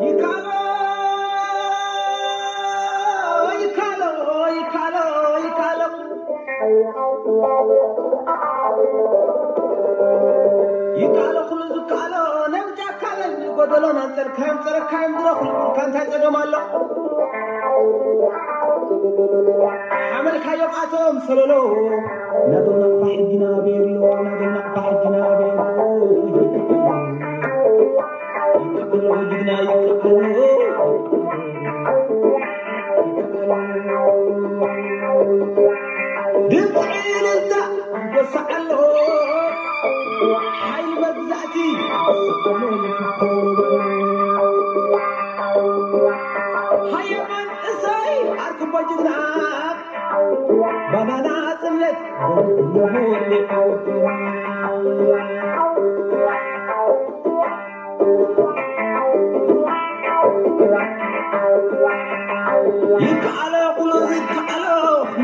ይካሎ ይካሎ ይካሎ ይካሎ ይካሎ ኩሉ ዝካሎ ነብጃ ካለን ጎደሎ ናንጸርካዮም ጸረካዮም ድረኹል ቡርካ እንታይ ጸገም ኣሎ ሓመልካዮም ኣቶም ሰለሎ ናቶም ናቕፋ ሕጊና ቤሎ ናቶም ናቕፋ ሕጊና ቤሎ ይካሎ ጅግና ይካሎ ድምፂ ዕልልታ ይጎስዕ ኣሎ ሓይሊ መግዛእቲ ይጎስዕ ኣሎ ይፍኮበ ሃየማን እሰይ ኣርክቦ ጅግና ባናና ጽነት ይከኣሎ ኩሉ ይከኣሎ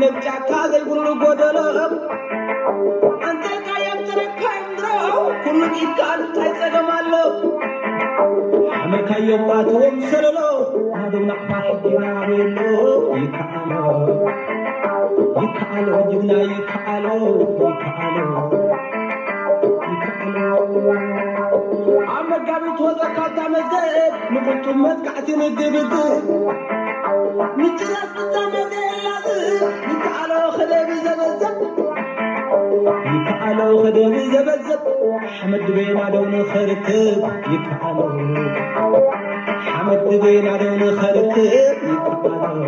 ነብጫካ ዘይብሉ ጎደሎ ኣንተልካ የምጥረካ እምድሮ ኩሉ ኢድካ እንታይ ጸገም ኣሎ ሓመልካዮም ኣትዎም ሰለሎ ናደው ናቕፋ ሕጊና ቤሎ ይከኣሎ ይከኣሎ ጅግና ይከኣሎ ይከኣሎ ይከኣሎ ኣብ መጋቢት ወዘካታ መዝገብ ንቁጡብ መጥቃዕቲ ንግብግብ ምጭራስ ፍጻመ ዘየላዝ ይከኣሎ ከደብ ዘበዘብ ይከኣሎ ከደብ ዘበዘብ ሓመድ ቤና ደው ንኸርክብ ይከኣሎ ሓመድ ቤና ደው ንኸርክብ ይከኣሎ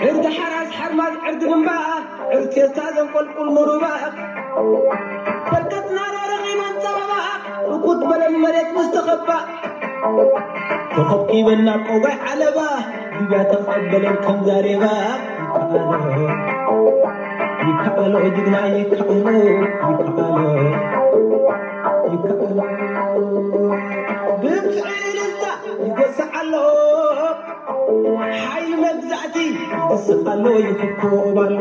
ዕርዲ ሓራስ ሓርማዝ ዕርዲ ግንባር ዕርቴስታ ዘንቆልቁል ንሩባ በርከትና ረኺበን ጸበባ ርኩት በለን መሬት ምስ ተኸባ ተኸብኪበን ናብ ቆጓይ ዓለባ ሊብያ ተቐበለን ከም ዛሬባ ይከኣሎ ይከኣሎ ጅግና ይከኣሎ ይከኣሎ ይከኣሎ ድምፂ ዕልልታ ይጎስዕ ኣሎ ሓይሊ መግዛእቲ ይስቕ ኣሎ ይፍኮብ ኣሎ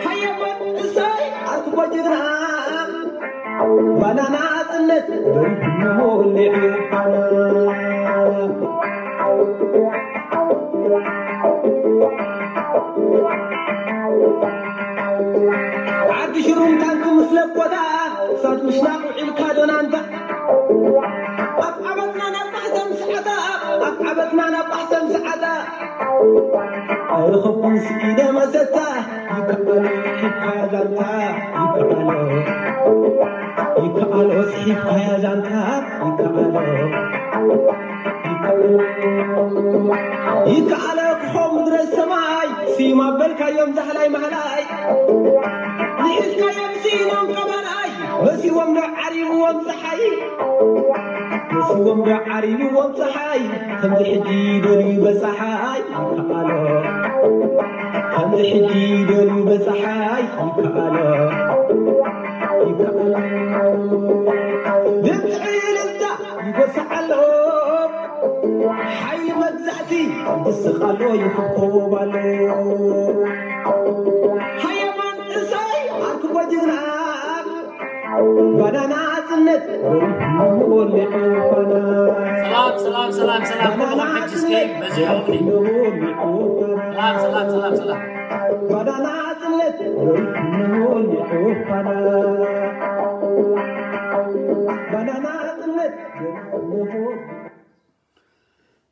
ሃየሞን እሰይ ኣርክቦ ጅግና ባናና ጽነት በሪድሞ ሊዕፋና ዓዲ ሽሩም ታንክ ምስ ለኮታ እሳት ምሽናቕ ውዒልካ ዶናንታ ኣብ ዓበትና ናብ ማሕተም ሰዓታ ኣብ ዓበትና ናብ ማሕተም ሰዓታ ኣይረኸብኩን ስኢነ መሰታ ይከኣሎ ሒብካያ ዛንታ ይከኣሎ ይከኣሎ ስሒብካያ ዛንታ ይከኣሎ ይከኣሎ ክኾ ምድረ ሰማይ ስዩም ኣበልካዮም ዛህላይ ማህላይ ንሒዝካዮም ስኢኖም ቀባላይ መሲዎም ዶ ዓሪብዎም ፀሓይ መሲዎም ዶ ዓሪብዎም ፀሓይ ከምዚ ሕጂ ደልዩ በፀሓይ ይከኣሎ ከምዚ ሕጂ ደልዩ በፀሓይ ይከኣሎ ይከኣሎ ድምፂ ዕልልታ ይጎስዕ ኣሎ ሓይሊ መግዛእቲ ይስቕ ኣሎ ይፍኮብ ኣሎ ሃየማን እሰይ ኣርክቦ ጅግና ባናና ጽነት ወሊዑ ባና ሰላም ሰላም ሰላም ሰላም ኩሉ ሕጂ እስከ በዚሖም ሰላም ሰላም ሰላም ሰላም ባናና ጽነት ወሊዑ ባና ባናና ጽነት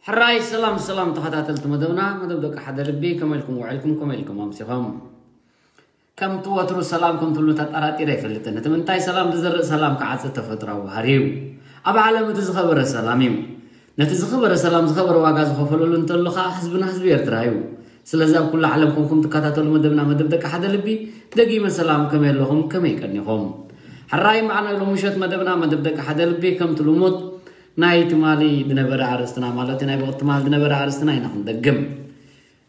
ሕራይ ሰላም ሰላም ተኸታተልቲ መደብና መደብ ደቂ ሓደ ልቢ ከመይ ኢልኩም ውዕልኩም ከመይ ኢልኩም ኣምሲኹም ከምቲ ወትሩ ሰላም ከም ትብሉ ተጠራጢረ ኣይፈልጥን እቲ ምንታይ ሰላም ዝዘርእ ሰላም ክዓጽድ ተፈጥራዊ ባህሪ እዩ ኣብ ዓለም እቲ ዝኸበረ ሰላም እዩ ነቲ ዝኸበረ ሰላም ዝኸበረ ዋጋ ዝኸፈለሉ እንተሎ ከዓ ህዝብና ህዝቢ ኤርትራ እዩ ስለዚ ኣብ ኩሉ ዓለም ኮንኩም ትከታተሉ መደብና መደብ ደቂ ሓደ ልቢ ደጊመ ሰላም ከመይ ኣለኹም ከመይ ቀኒኹም ሕራይ መዓና ሎምሸት መደብና መደብ ደቂ ሓደ ልቢ ከምቲ ልሙድ ናይ ትማሊ ዝነበረ ኣርእስትና ማለት ናይ ብቕቲ ትማሊ ዝነበረ ኣርእስትና ኢና ክንደግም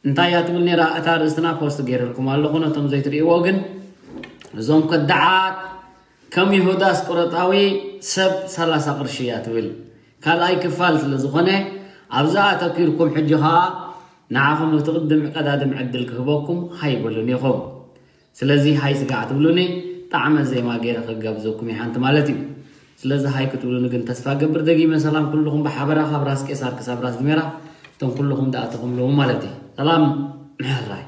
እንታይ እያ ትብል ነራ እታ ኣርእስትና ፖስት ገይረልኩም ኣለኹ ነቶም ዘይትርእይዎ ግን እዞም ከዳዓት ከም ይሁዳ ኣስቆሮጣዊ ሰብ ሰላሳ ቅርሺ እያ ትብል ካልኣይ ክፋል ስለ ዝኾነ ኣብዛ ኣተኪርኩም ሕጂ ኸዓ ንዓኹም እቲ ቅድም ቀዳድም ዕድል ክህበኩም ሃይ በሉኒ ኢኹም። ስለዚ ሃይ ስጋዕ ትብሉኒ፣ ጣዕመ ዜማ ገይረ ክጋብዘኩም እየ ሓንቲ ማለት እዩ። ስለዚ ሃይ ክትብሉኒ ግን ተስፋ ገብር። ደጊመ ሰላም ኩልኹም ብሓበራ፣ ካብ ራስ ቄሳር ክሳብ ራስ ድሜራ፣ እቶም ኩልኹም ዝኣተኹምሉ ማለት እዩ። ሰላም ሕራይ።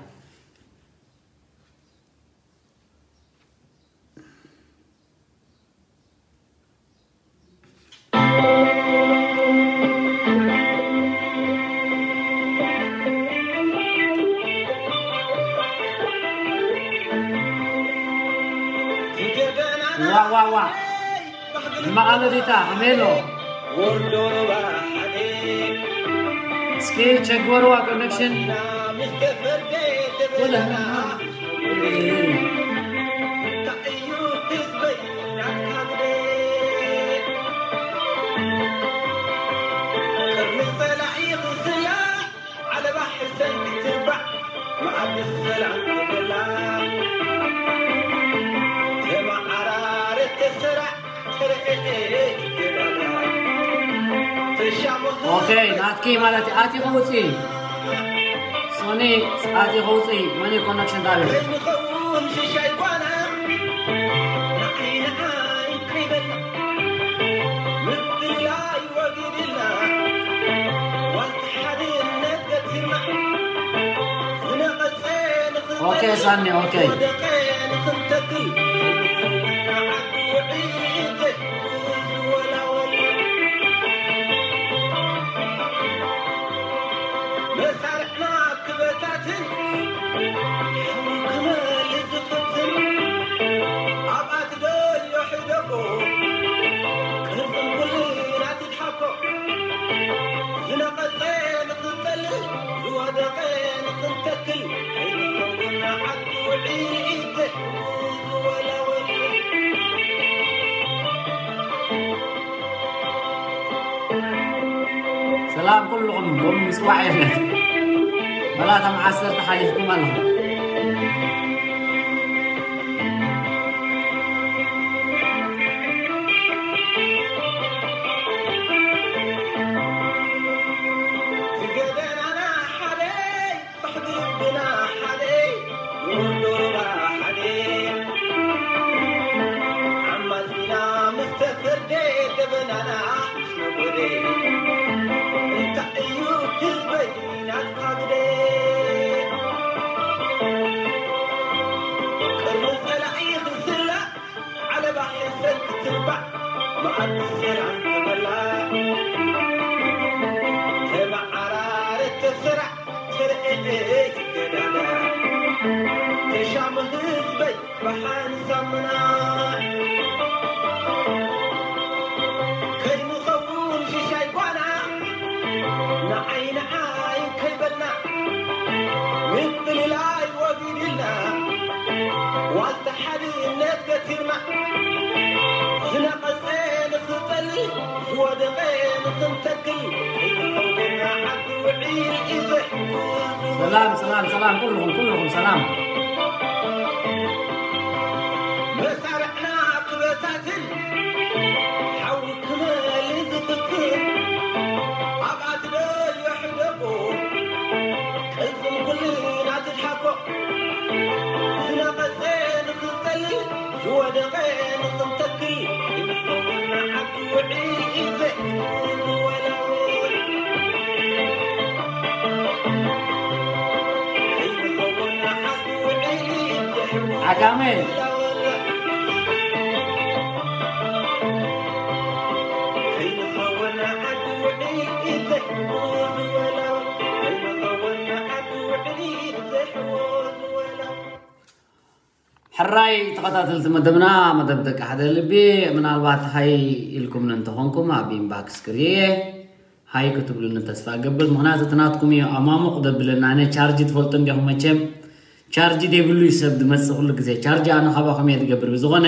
ዋ ዋ ዋ። መቐለ ዲታ ከመይ ኣሎ? እስኪ ቸግበርዋ ኮኔክሽን። ኦኬ፣ ናትኪ ማለት ኣቲ ከውፂ ሶኒ፣ ኣቲ ከውፂ መን ኮኔክሽን ጣብያ ኦኬ ሳኒ፣ ኦኬ። ሰላም ኩልኹም፣ ሎም ምጽዋዕ የለን። መላታ መዓሰርተ ሓሊፍኩም ኣለኹም። ሰላም፣ ሰላም፣ ሰላም፣ ኩልኹም፣ ኩልኹም ሰላም። ዓጋመ። ሕራይ ተኸታተልቲ መደብና፣ መደብ ደቂ ሓደ ልቢ፣ ምናልባት ሃይ ኢልኩምኒ እንተኾንኩም ኣብ ኢንባክስ ክርእየ ሃይ ክትብሉኒ ተስፋ እገብር። ምኽንያቱ እቲ ናትኩም እዩ ኣማሙቕ ዘብለና። ኣነ ቻርጅ ትፈልጡ እንዲኹም መቸም፣ ቻርጅ ዘይብሉ እዩ ሰብ ዝመጽእ ኩሉ ግዜ። ቻርጅ ኣነ ካባኹም እየ ዝገብር። ብዝኾነ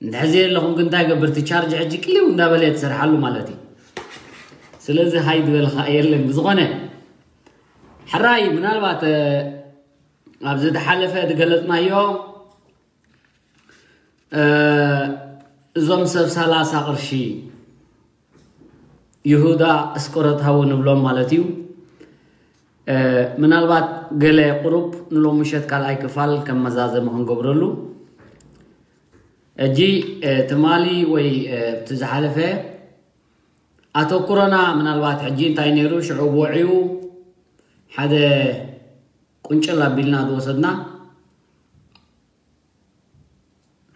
እንድሕር ዘየለኹም ግን እንታይ ገብር፣ እቲ ቻርጅ ሕጂ ቅልው እንዳበለ እየ ትሰርሓሉ ማለት እዩ። ስለዚ ሃይ ዝበልኻ የለን። ብዝኾነ ሕራይ ምናልባት፣ እ፣ ኣብዚ ዝሓለፈ ዝገለጽናዮ፣ እ፣ እዞም ሰብ ሰላሳ ቅርሺ ይሁዳ እስቆሮታዊ ንብሎም ማለት እዩ። ምናልባት ገለ ቁሩብ ንሎም ምሸት ካልኣይ ክፋል ከም መዛዘሚ ክንገብረሉ። እጂ ትማሊ ወይ እቲ ዝሓለፈ ኣተኩሮና ምናልባት ሕጂ እንታይ ነይሩ ሽዑ ወዕዩ ሓደ ቁንጭል ኣቢልና ዝወሰድና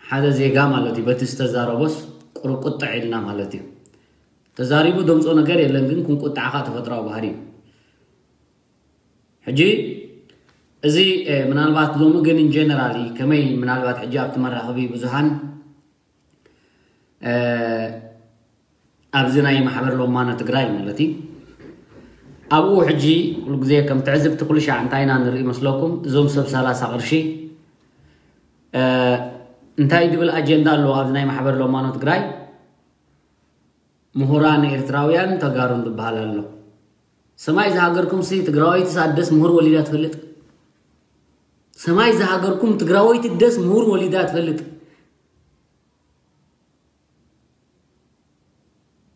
ሓደ ዜጋ ማለት እዩ። በቲ ዝተዛረቦስ ቁርቁጥዕ ኢልና ማለት እዩ። ተዛሪቡ ደምፆ ነገር የለን፣ ግን ክንቁጣዕኻ ተፈጥራዊ ባህሪ እዩ። ሕጂ እዚ ምናልባት ሎሚ ግን ጀነራሊ ከመይ ምናልባት ሕጂ ኣብቲ መራኸቢ ብዙሃን ኣብዚ ናይ ማሕበር ሎማኖ ትግራይ ማለት እዩ። ኣብኡ ሕጂ ኩሉ ግዜ ከም ትዕዝብቲ ኩሉ ሻዕ እንታይ ኢና ንርኢ መስለኩም? እዞም ሰብ ሰላሳ ቅርሺ እንታይ ዝብል ኣጀንዳ ኣለዎ ኣብዚ ናይ ማሕበር ሎማኖ ትግራይ? ምሁራን ኤርትራውያን ተጋሩን ዝበሃል ኣሎ። ሰማይ ዝሃገርኩም ሲ ትግራወይቲ ሳደስ ምሁር ወሊዳ ትፈልጥ? ሰማይ ዝሃገርኩም ትግራወይቲ ደስ ምሁር ወሊዳ ትፈልጥ?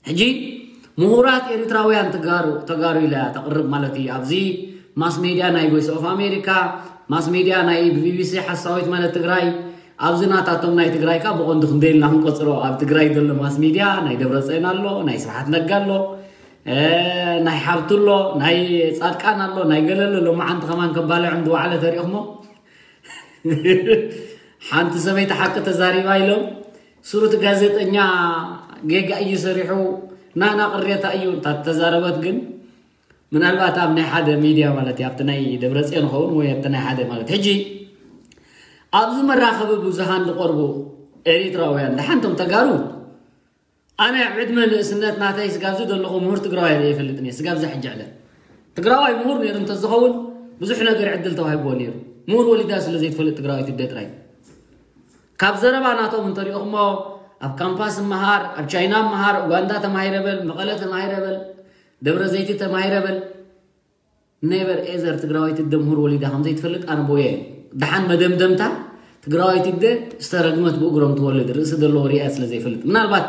ሕጂ ምሁራት ኤርትራውያን ተጋሩ ተጋሩ ኢላ ተቕርብ ማለት እዩ። ኣብዚ ማስ ሜድያ ናይ ቮይስ ኦፍ ኣሜሪካ፣ ማስ ሜድያ ናይ ቢቢሲ ሓሳዊት ማለት ትግራይ፣ ኣብዚ ናታቶም ናይ ትግራይ ካ ብቐንዱ ክንደይ ኢልና ክንቆፅሮ፣ ኣብ ትግራይ ዘሎ ማስ ሜድያ ናይ ደብረፅዮን ኣሎ፣ ናይ ስብሓት ነጋ ኣሎ፣ ናይ ሓብቱ ኣሎ፣ ናይ ፃድቃን ኣሎ፣ ናይ ገለ ኣሎ። ሎማዓንቲ ከማን ከባልዕ እንድዋዕለ ተሪእኹሞ ሓንቲ ሰበይቲ ሓቂ ተዛሪባ ኢሎም ስሩት ጋዜጠኛ ጌጋ እዩ ሰሪሑ ናና ቅሬታ እዩ እንታ ተዛረበት። ግን ምናልባት ኣብ ናይ ሓደ ሚድያ ማለት እዩ ኣብቲ ናይ ደብረፅዮን ኸውን ወይ ኣብቲ ናይ ሓደ ማለት ሕጂ ኣብዚ መራኸቢ ብዙሃን ዝቐርቡ ኤሪትራውያን ደሓንቶም ተጋሩ ኣነ ኣብ ዕድመ ንእስነት ናተይ ስጋብዚ ዘለኹ ምሁር ትግራዋይ ርእየ ይፈልጥን እየ። ስጋብዚ ሕጂ ዕለት ትግራዋይ ምሁር ነይሩ እንተዝኸውን ብዙሕ ነገር ዕድል ተዋሂብዎ ነይሩ። ምሁር ወሊዳ ስለ ዘይትፈልጥ ትግራዋይ ትደ ጥራይ ካብ ዘረባ ናቶም እንተሪኦኹሞ ኣብ ካምፓስ ምሃር፣ ኣብ ቻይና ምሃር፣ ኡጋንዳ ተማሂረ በል፣ መቐለ ተማሂረ በል፣ ደብረ ዘይቲ ተማሂረ በል። ኔቨር ኤዘር ትግራዋይቲ ደ ምሁር ወሊዳ ከም ዘይትፈልጥ ኣነ ቦየ። ደሓን መደምደምታ ትግራዋይቲ ደ ዝተረግመት ብእግሮም ትወልድ ርእሲ ዘለዎ ሪኣ ስለ ዘይፈልጥ ምናልባት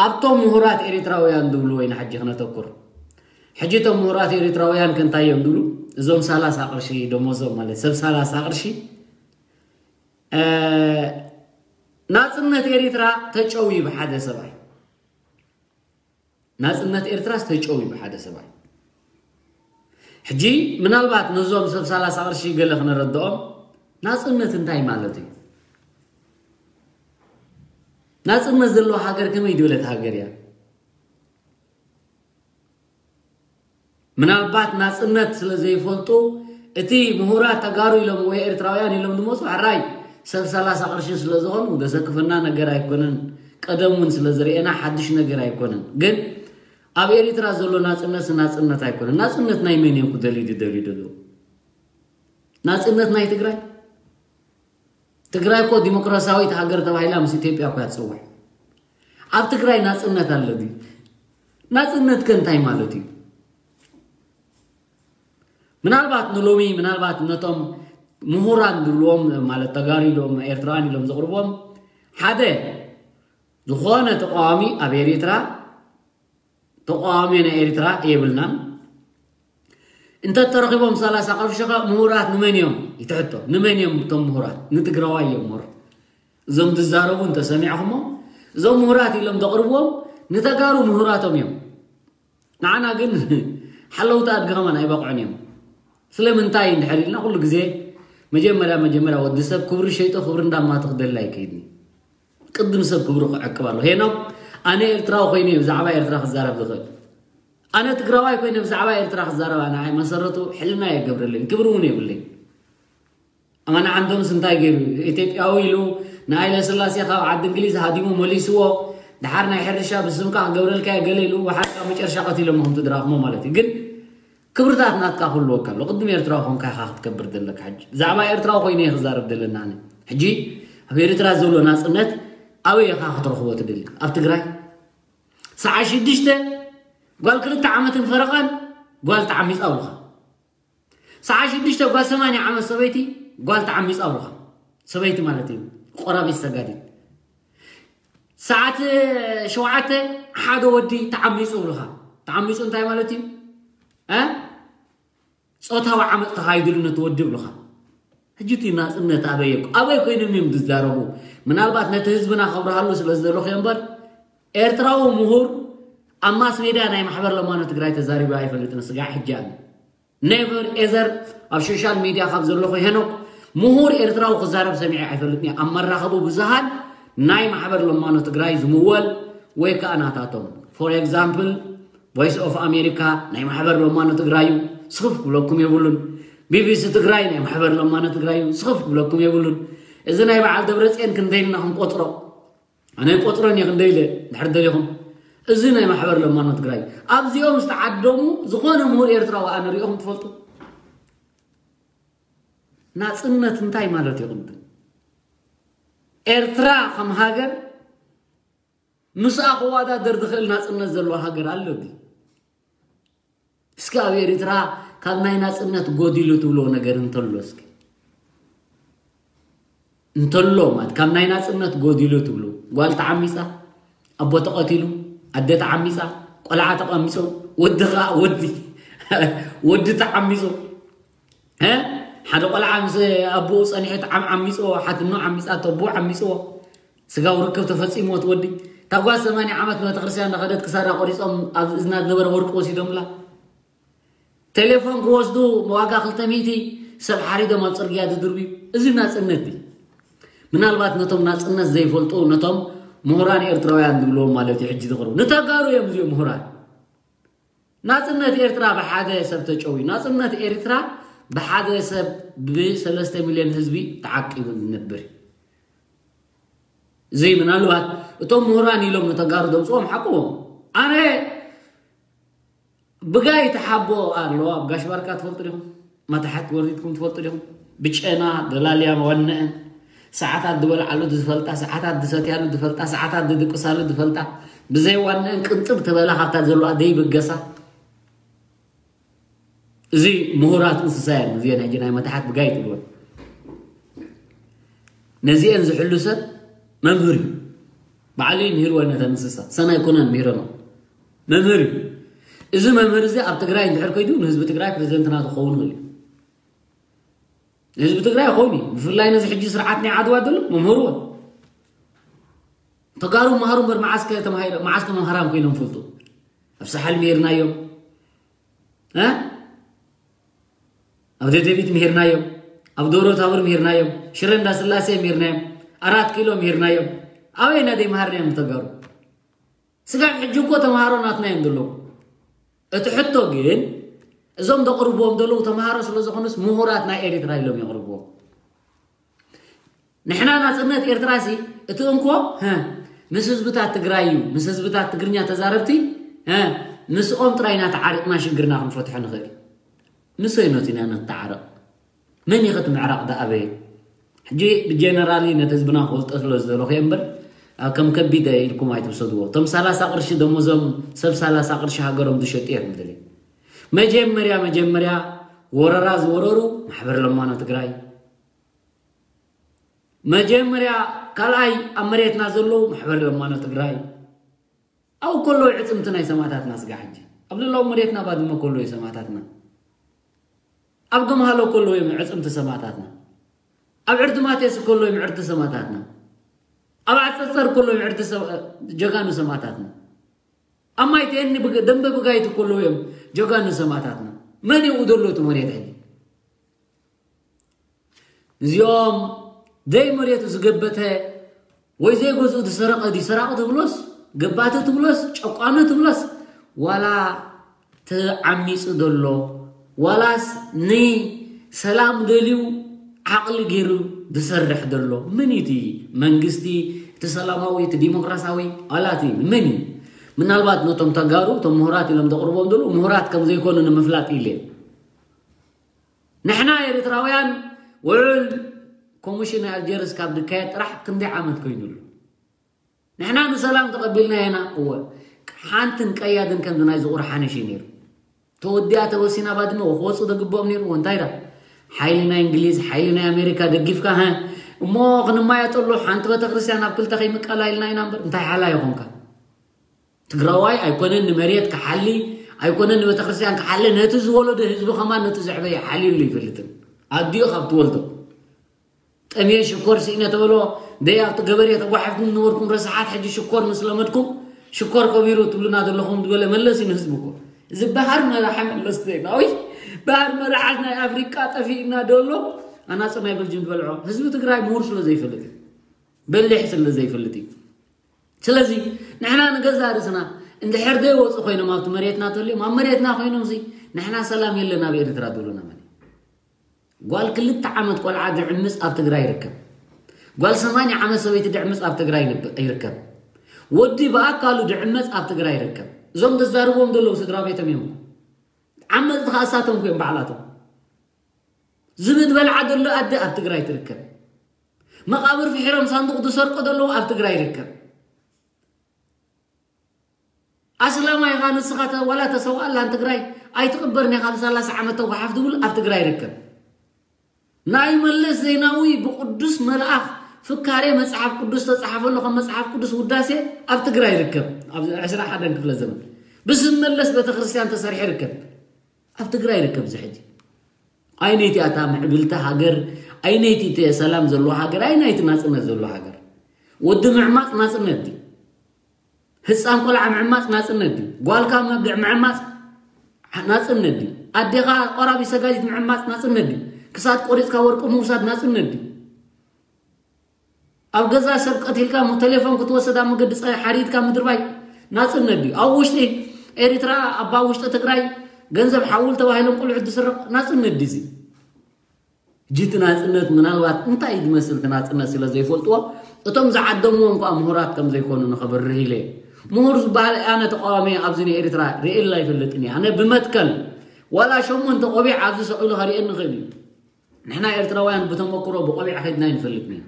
ኣብቶም ምሁራት ኤሪትራውያን ዝብሉ ወይና ሕጂ ክነተኩር። ሕጂ እቶም ምሁራት ኤሪትራውያን ከንታይ እዮም ዝብሉ? እዞም ሰላሳ ቅርሺ ደሞዞም ማለት ሰብ ሰላሳ ቅርሺ ናፅነት ኤሪትራ ተጨውዩ ብሓደ ሰብኣይ ናፅነት ኤርትራ ዝተጨው እዩ ብሓደ ሰብኣይ። ሕጂ ምናልባት ነዞም ሰብ ሰላሳ ቅርሺ ገለ ክነረድኦም ናፅነት እንታይ ማለት እዩ? ናፅነት ዘለዎ ሃገር ከመይ ዝበለት ሃገር እያ? ምናልባት ናፅነት ስለ ዘይፈልጡ እቲ ምሁራት ተጋሩ ኢሎም ወይ ኤርትራውያን ኢሎም ዝመፁ ሕራይ ሰብ ሰላሳ ቅርሺ ስለ ዝኾኑ ዘሰክፈና ነገር ኣይኮነን። ቀደም እውን ስለ ዝርኤና ሓድሽ ነገር ኣይኮነን። ግን ኣብ ኤሪትራ ዘሎ ናጽነት ናጽነት ኣይኮነን። ናጽነት ናይ መን እዮም ክደልዩ ዝደልዩ ዘለዉ? ናጽነት ናይ ትግራይ? ትግራይ እኮ ዲሞክራሲያዊት ሃገር ተባሂላ ምስ ኢትዮጵያ እኮ እያ ትጽዋዕ። ኣብ ትግራይ ናጽነት ኣሎ ድዩ? ናጽነት ከ እንታይ ማለት እዩ? ምናልባት ንሎሚ ምናልባት ነቶም ምሁራን ዝብልዎም ማለት ተጋሩ ኢሎም ኤርትራውያን ኢሎም ዘቕርብዎም ሓደ ዝኾነ ተቃዋሚ ኣብ ኤሪትራ ተቃዋሚ ናይ ኤሪትራ የብልናን። እንተ ተረኺቦም ሰላሳ ቅርሺ ከ ምሁራት ንመን እዮም ይትሕቶ? ንመን እዮም እቶም ምሁራት? ንትግራዋይ እዮም ሞር። እዞም ዝዛረቡ እንተሰሚዕኹሞ እዞም ምሁራት ኢሎም ዘቕርብዎም ንተጋሩ ምሁራቶም እዮም። ንዓና ግን ሓለውቲ ኣድጊ ከማን ኣይበቕዑን እዮም። ስለምንታይ እንድሕር ኢልና ኩሉ ግዜ መጀመርያ መጀመርያ ወዲ ሰብ ክብሪ ሸይጦ ክብሪ እንዳማቱ ክደሊ ኣይከይድን እዩ። ቅድም ሰብ ክብሩ ክዕቅብ ኣሎ። ሄኖክ ኣነ ኤርትራዊ ኮይነ ብዛዕባ ኤርትራ ክዛረብ ዝኽእል። ኣነ ትግራዋይ ኮይነ ብዛዕባ ኤርትራ ክዛረብ ኣነ ኣይ መሰረቱ ሕልና የገብረለይን ክብሪ እውን የብለይን። ኣማን ዓንዶምስ እንታይ ገይሩ ኢትዮጵያዊ ኢሉ ንሃይለ ስላሴ ካብ ዓዲ እንግሊዝ ሃዲሙ መሊስዎ። ድሓር ናይ ሕርሻ ብስምካ ክገብረልካ እየ ገለ ኢሉ ወሓድካ መጨረሻ ቀቲሎም ከምቲ ድራኽሞ ማለት እዩ። ግን ክብርታት ናትካ ክህልወካ ኣሎ። ቅድም ኤርትራዊ ኮንካ ኢኻ ክትከብር ዘለካ። ሕጂ ብዛዕባ ኤርትራዊ ኮይነ እየ ክዛረብ ዘለና ኣነ። ሕጂ ኣብ ኤርትራ ዘሎ ናጽነት ኣበይ ኢኻ ክትረኽቦ ትደሊ? ኣብ ትግራይ ሰዓ ሽዱሽተ ጓል ክልተ ዓመትን ፈረቓን ጓል ተዓሚጻ ኣብሉኻ። ሰዓ ሽዱሽተ ጓል ሰማንያ ዓመት ሰበይቲ ጓል ተዓሚጻ ኣብሉኻ። ሰበይቲ ማለት እዩ ቆራቢት ሰጋዲት። ሰዓት ሸውዓተ ሓደ ወዲ ተዓሚጹ ብሉኻ። ተዓሚጹ እንታይ ማለት እዩ? እ? ጾታዊ ዓመፅ ተኻይድሉ ነቲ ወዲ ብሉኻ። ሕጂ እቲ ናፅነት ኣበይ ኣበይ ኮይኖም እዮም ዝዛረቡ? ምናልባት ነቲ ህዝብና ከብርሃሉ ስለ ዝደለኹ እምበር፣ ኤርትራዊ ምሁር ኣብ ማስ ሜድያ ናይ ማሕበር ለማኖ ትግራይ ተዛሪቡ ኣይፈልጥን። ስጋዕ ሕጂ ኣነ ኔቨር ኤዘር ኣብ ሶሻል ሚድያ ካብ ዘለኹ ሄኖክ ምሁር ኤርትራዊ ክዛረብ ሰሚዐ ኣይፈልጥን እየ። ኣብ መራኸቡ ብዙሃን ናይ ማሕበር ለማኖ ትግራይ ዝምወል ወይ ከዓ ናታቶም፣ ፎር ኤግዛምፕል፣ ቮይስ ኦፍ ኣሜሪካ ናይ ማሕበር ለማኖ ትግራይ እዩ፣ ስኽፍ ክብለኩም የብሉን። ቢቢሲ ትግራይ ናይ ማሕበር ለማኖ ትግራይ እዩ፣ ስኽፍ ክብለኩም የብሉን። እዚ ናይ በዓል ደብረፅዮን ክንደይ ኢልና ክንቆፅሮ? ኣነ ቆፅረን እየ ክንደይ ኢለ ድሕር ደሊኹም። እዚ ናይ ማሕበር ለማኖ ትግራይ ኣብዚኦም ዝተዓደሙ ዝኾነ ምሁር ኤርትራዊ ኣነ ሪኦኹም ትፈልጡ? ናፅነት እንታይ ማለት እዩ? ቅድም ኤርትራ ከም ሃገር ምስኣ ክወዳደር ዝኽእል ናፅነት ዘለዎ ሃገር ኣሎ ድዩ? እስኪ ኣብ ኤርትራ ካብ ናይ ናፅነት ጎዲሉ ትብሎ ነገር እንተሎ እስኪ እንተሎ ማለት ካብ ናይ ናፅነት ጎዲሉ ትብሉ? ጓል ተዓሚፃ፣ ኣቦ ተቐቲሉ፣ ኣደ ተዓሚፃ፣ ቆልዓ ተቐሚፁ፣ ወዲ ከዓ ወዲ ወዲ ተዓሚፁ፣ እ? ሓደ ቆልዓ ምስ ኣቦኡ ፀኒሑ ተዓም ዓሚፅዎ፣ ሓትኖ ዓሚፃቶ፣ ኣቦኡ ዓሚፅዎ፣ ስጋዊ ርክብ ተፈፂምዎ እቲ ወዲ። እታ ጓል ሰማንያ ዓመት ንቤተክርስትያን እንዳኸደት ክሳዳ ቆሪፆም ኣብ እዝና ዝነበረ ወርቂ ወሲዶምላ። ቴሌፎን ክወስዱ ዋጋ ክልተ ሚእቲ ሰብ ሓሪዶም ኣብ ፅርግያ ዝድርብዩ። እዚ ናፅነት ድዩ? ምናልባት ነቶም ናፅነት ዘይፈልጡ፣ ነቶም ምሁራን ኤርትራውያን ዝብልዎም ማለት እዩ ሕጂ ዝቕርቡ። ንተጋሩ እዮም እዚኦም ምሁራን። ናፅነት ኤርትራ ብሓደ ሰብ ተጨውዩ። ናፅነት ኤርትራ ብሓደ ሰብ ብሰለስተ ሚልዮን ህዝቢ ተዓቂቡ ዝነብር እዩ። እዚ ምናልባት እቶም ምሁራን ኢሎም ንተጋሩ ዘምፅኦም ሓቅዎም። ኣነ ብጋይ ተሓቦ ኣሎ ኣብ ጋሽ ባርካ ትፈልጡ ዲኹም? መታሕት ወሪድኩም ትፈልጡ ዲኹም? ብጨና ደላልያ ዋነአን ሰዓታት ዝበልዓሉ ዝፈልጣ፣ ሰዓታት ዝሰትያሉ ዝፈልጣ፣ ሰዓታት ዝድቅሳሉ ዝፈልጣ፣ ብዘይ ዋነአን ቅንጥብ ተበላ ካብታ ዘለዋ ዘይብገሳ። እዚ ምሁራት እንስሳ እየን። እዚአን ሕጂ ናይ መታሕት ብጋይ ትብልወን። ነዚአን ዝሕሉ ሰብ መምህር እዩ። ባዕሉ እዩ ምሂርወን ነተን እንስሳ። ሰናይ ኮነን ምሂረኖ መምህር እዩ። እዚ መምህር እዚ ኣብ ትግራይ እንድሕር ከይዱ ንህዝቢ ትግራይ ፕሬዚደንት ናቱ ክኸውን ይኽእል እዩ። ንህዝቢ ትግራይ ይኸውን እዩ። ብፍላይ ነዚ ሕጂ ስርዓት ናይ ዓድዋ ዘሎ መምህርዎ። ተጋሩ መሃሩ እምበር መዓስ ከ ተማሂረ-፣ መዓስ ከ መምህራን ኮይኖም ፈልጡ? ኣብ ሳሕል ምሂርናዮም። እ? ኣብ ደደቢት ምሂርናዮም። ኣብ ደብረ ታቦር ምሂርናዮም። ሽረ እንዳስላሴ ምሂርናዮም። ኣራት ኪሎ ምሂርናዮም። ኣበይና ደይ መሃርናዮም ተጋሩ? ስጋብ ሕጂ እኮ ተምሃሮ ናትና እዮም ዘለዉ። እቲ ሕቶ ግን እዞም ዘቕርብዎም ዘለዉ ተምሃሮ ስለ ዝኾኑስ ምሁራት ናይ ኤሪትራ ኢሎም የቕርብዎም። ንሕና ናጽነት ኤርትራ ሲ እቲ እንኮ፣ ሀ፣ ምስ ህዝብታት ትግራይ እዩ፣ ምስ ህዝብታት ትግርኛ ተዛረብቲ፣ ሀ፣ ምስኦም ጥራይ ኢና ተዓሪቕና ሽግርና ክንፈትሖ ንኽእል። ምስ ኣየኖት ኢና ንተዓረቕ? መን እዩ እቲ ምዕራቕ ዝኣበየ? ሕጂ ብጀነራሊ ነቲ ህዝብና ክፈልጦ ስለ ዝደለኹ እየ እምበር፣ ኣብ ከም ከቢድ ኢልኩም ኣይትውሰድዎ። እቶም ሰላሳ ቅርሺ ደሞዞም ሰብ ሰላሳ ቅርሺ ሃገሮም ዝሸጡ እዮም ዝደልዩ። መጀመርያ፣ መጀመርያ ወረራ ዝወረሩ ማሕበር ለማኖ ትግራይ። መጀመርያ፣ ካልኣይ ኣብ መሬትና ዘለዉ ማሕበር ለማኖ ትግራይ። ኣብኡ ከለዉ ዕፅምቲ ናይ ሰማእታትና ስጋ ሕጂ። ኣብ ልላው መሬትና ባድመ ከለዉ ሰማእታትና። ኣብ ገምሃሎ ከለዉ እዮም ዕፅምቲ ሰማእታትና። ኣብ ዕርዲ ማቴስ ከለዉ እዮም ዕርዲ ሰማእታትና። ኣብ ዓፀፀር ከለዉ እዮም ዕርዲ ሰ-፣ ጀጋኑ ሰማእታትና። ኣብ ማይ ቴኒ ብግ-፣ ደንበ ብጋይት ከለዉ እዮም ጀጋኑ ሰማእታትና። መን ይኡ ዘሎ እቲ መሬት ሕጂ? እዚኦም ደይ መሬቱ ዝገበተ ወይ ዘይገዝኡ ዝሰረቐ ድዩ ሰራቂ ትብሎስ፣ ገባቲ ትብሎስ፣ ጨቋኒ ትብሎስ፣ ዋላ ተዓሚፁ ዘሎ፣ ዋላስ ንሰላም ደልዩ ዓቕሊ ገይሩ ዝሰርሕ ዘሎ፣ መን እዩ እቲ መንግስቲ፣ እቲ ሰላማዊ፣ እቲ ዲሞክራሲያዊ፣ ዋላ እቲ መን እዩ? ምናልባት ነቶም ተጋሩ፣ እቶም ምሁራት ኢሎም ዘቕርቦም ዘለዉ፣ ምሁራት ከም ዘይኮኑ ንምፍላጥ ኢለ። ንሕና ኤርትራውያን ውዕል ኮሚሽን ኣልጀርስ ካብ ዝካየድ ጥራሕ ክንደይ ዓመት ኮይኑ ኣሎ? ንሕና ንሰላም ተቐቢልና ኢና። እወ፣ ሓንትን ቀያድን ከምዚ ናይ ዝቑር ሓንሽ እዩ ነይሩ። ተወዲኣ ተወሲና ባድመ ክወፁ ዘግብኦም ነይሩ። እንታይ ዳ? ሓይሊ ናይ እንግሊዝ፣ ሓይሊ ናይ ኣሜሪካ ደጊፍካ፣ ሀ፣ እሞ ክንማየጠሉ ሓንቲ ቤተክርስትያን ኣብ ክልተ ከይምቀላ ኢልና ኢና እምበር፣ እንታይ ሓላ ይኾንካ? ትግራዋይ ኣይኮነን ንመሬት ክሓሊ፣ ኣይኮነን ንቤተክርስትያን ክሓለ፣ ነቲ ዝወለዶ ህዝቢ ከማን ነቲ ዘዕበየ ሓልዩሉ ይፈልጥን። ኣዲኡ ካብ ትወልዶ ጠምየ ሽኮር ስኢነ ተበሎ፣ ደይ ኣብቲ ገበሬ ተጓሓፍኩም ዝነበርኩም ረሳሓት፣ ሕጂ ሽኮር ምስ ለመድኩም ሽኮር ከቢሩ ትብሉና ዘለኹም ዝበለ መለስ እዩ ንህዝቢ እኮ። እዚ ባህር መራሒ መለስ ዜናዊ፣ ባህር መራሓት ናይ ኣፍሪቃ ጠፊእና ደሎ ኣናጽ ናይ በልጅም ዝበልዖ ህዝቢ ትግራይ ምሁር ስለ ዘይፈልጥ እዩ። በሊሕ ስለ ዘይፈልጥ እዩ። ስለዚ ንሕና ንገዛ ርእስና እንድሕር ዘይወፁ ኮይኖም ኣብቲ መሬትና ተልዮም ኣብ መሬትና ኮይኖም ሲ ንሕና ሰላም የለን ኣብ ኤርትራ ትብሉና ማለት እዩ። ጓል ክልተ ዓመት ቆልዓ ድዕምፅ ኣብ ትግራይ ይርከብ። ጓል ሰማንያ ዓመት ሰበይቲ ድዕምፅ ኣብ ትግራይ ይርከብ። ወዲ ብኣካሉ ድዕመፅ ኣብ ትግራይ ይርከብ። እዞም ተዛርቦም ዘለዉ ስድራ ቤቶም እዮም። ዓመፅቲ ከዓ እሳቶም እዮም ባዕላቶም። ዝብት በልዓ ዘሎ ኣደ ኣብ ትግራይ ትርከብ። መቃብር ፍሒሮም ሳንዱቕ ዝሰርቆ ዘለዉ ኣብ ትግራይ ይርከብ። ኣስላማይ ኢኻ ንስኻ ተ- ዋላ ተሰውኣላን ትግራይ ኣይትቕበርን ኢኻ ብሰላሳ ዓመት ተጓሓፍ ዝብል ኣብ ትግራይ ይርከብ። ናይ መለስ ዜናዊ ብቅዱስ መልኣኽ ፍካሬ መጽሓፍ ቅዱስ ተጻሓፈሉ ከም መጽሓፍ ቅዱስ ውዳሴ ኣብ ትግራይ ይርከብ። ኣብ ዕስራ ሓደን ክፍለ ዘመን ብስም መለስ ቤተክርስትያን ተሰሪሑ ይርከብ። ኣብ ትግራይ ይርከብ እዚ ሕጂ። ኣይነይቲ ኣታ ምዕብልቲ ሃገር፣ ኣይነይቲ እቲ ሰላም ዘለዎ ሃገር፣ ኣይናይቲ ናጽነት ዘለዎ ሃገር። ወዲ ምዕማጽ ናጽነት ድዩ? ህፃን ቆልዓ ምዕማፅ ናፅነት ድዩ? ጓልካ መብልዕ ምዕማፅ ናፅነት ድዩ? ኣዴኻ ቆራቢ ሰጋዲት ምዕማፅ ናፅነት ድዩ? ክሳድ ቆሪፅካ ወርቂ ምውሳድ ናፅነት ድዩ? ኣብ ገዛ ሰብ ቀቲልካ ቴሌፎን ክትወስድ ኣብ መገዲ ፀ ሓሪድካ ምድርባይ ናፅነት ድዩ? ኣብ ውሽጢ ኤሪትራ ኣብ ውሽጢ ትግራይ ገንዘብ ሓውል ተባሂሎም ቆልዑት ዝስረቕ ናፅነት ድዩ? ሕጂ እቲ ናፅነት ምናልባት እንታይ ዝመስል እቲ ናፅነት ስለ ዘይፈልጥዎ እቶም ዝዓደምዎም ከዓ ምሁራት ከም ዘይኮኑ ንኸብርህ ኢለ። ምሁር ዝበሃል ኣነ ተቃዋሚ ኣብዚ ናይ ኤርትራ ርእየላ ኣይፈልጥን እየ። ኣነ ብመትከል ዋላ ሸሞንተ ቆቢዕ ኣብዚ ሰቕ ኢሉ ከርእየኒ ይኽእል እዩ። ንሕና ኤርትራውያን ብተመክሮ ብቆቢዕ ከይድና ኣይንፈልጥን ኢና።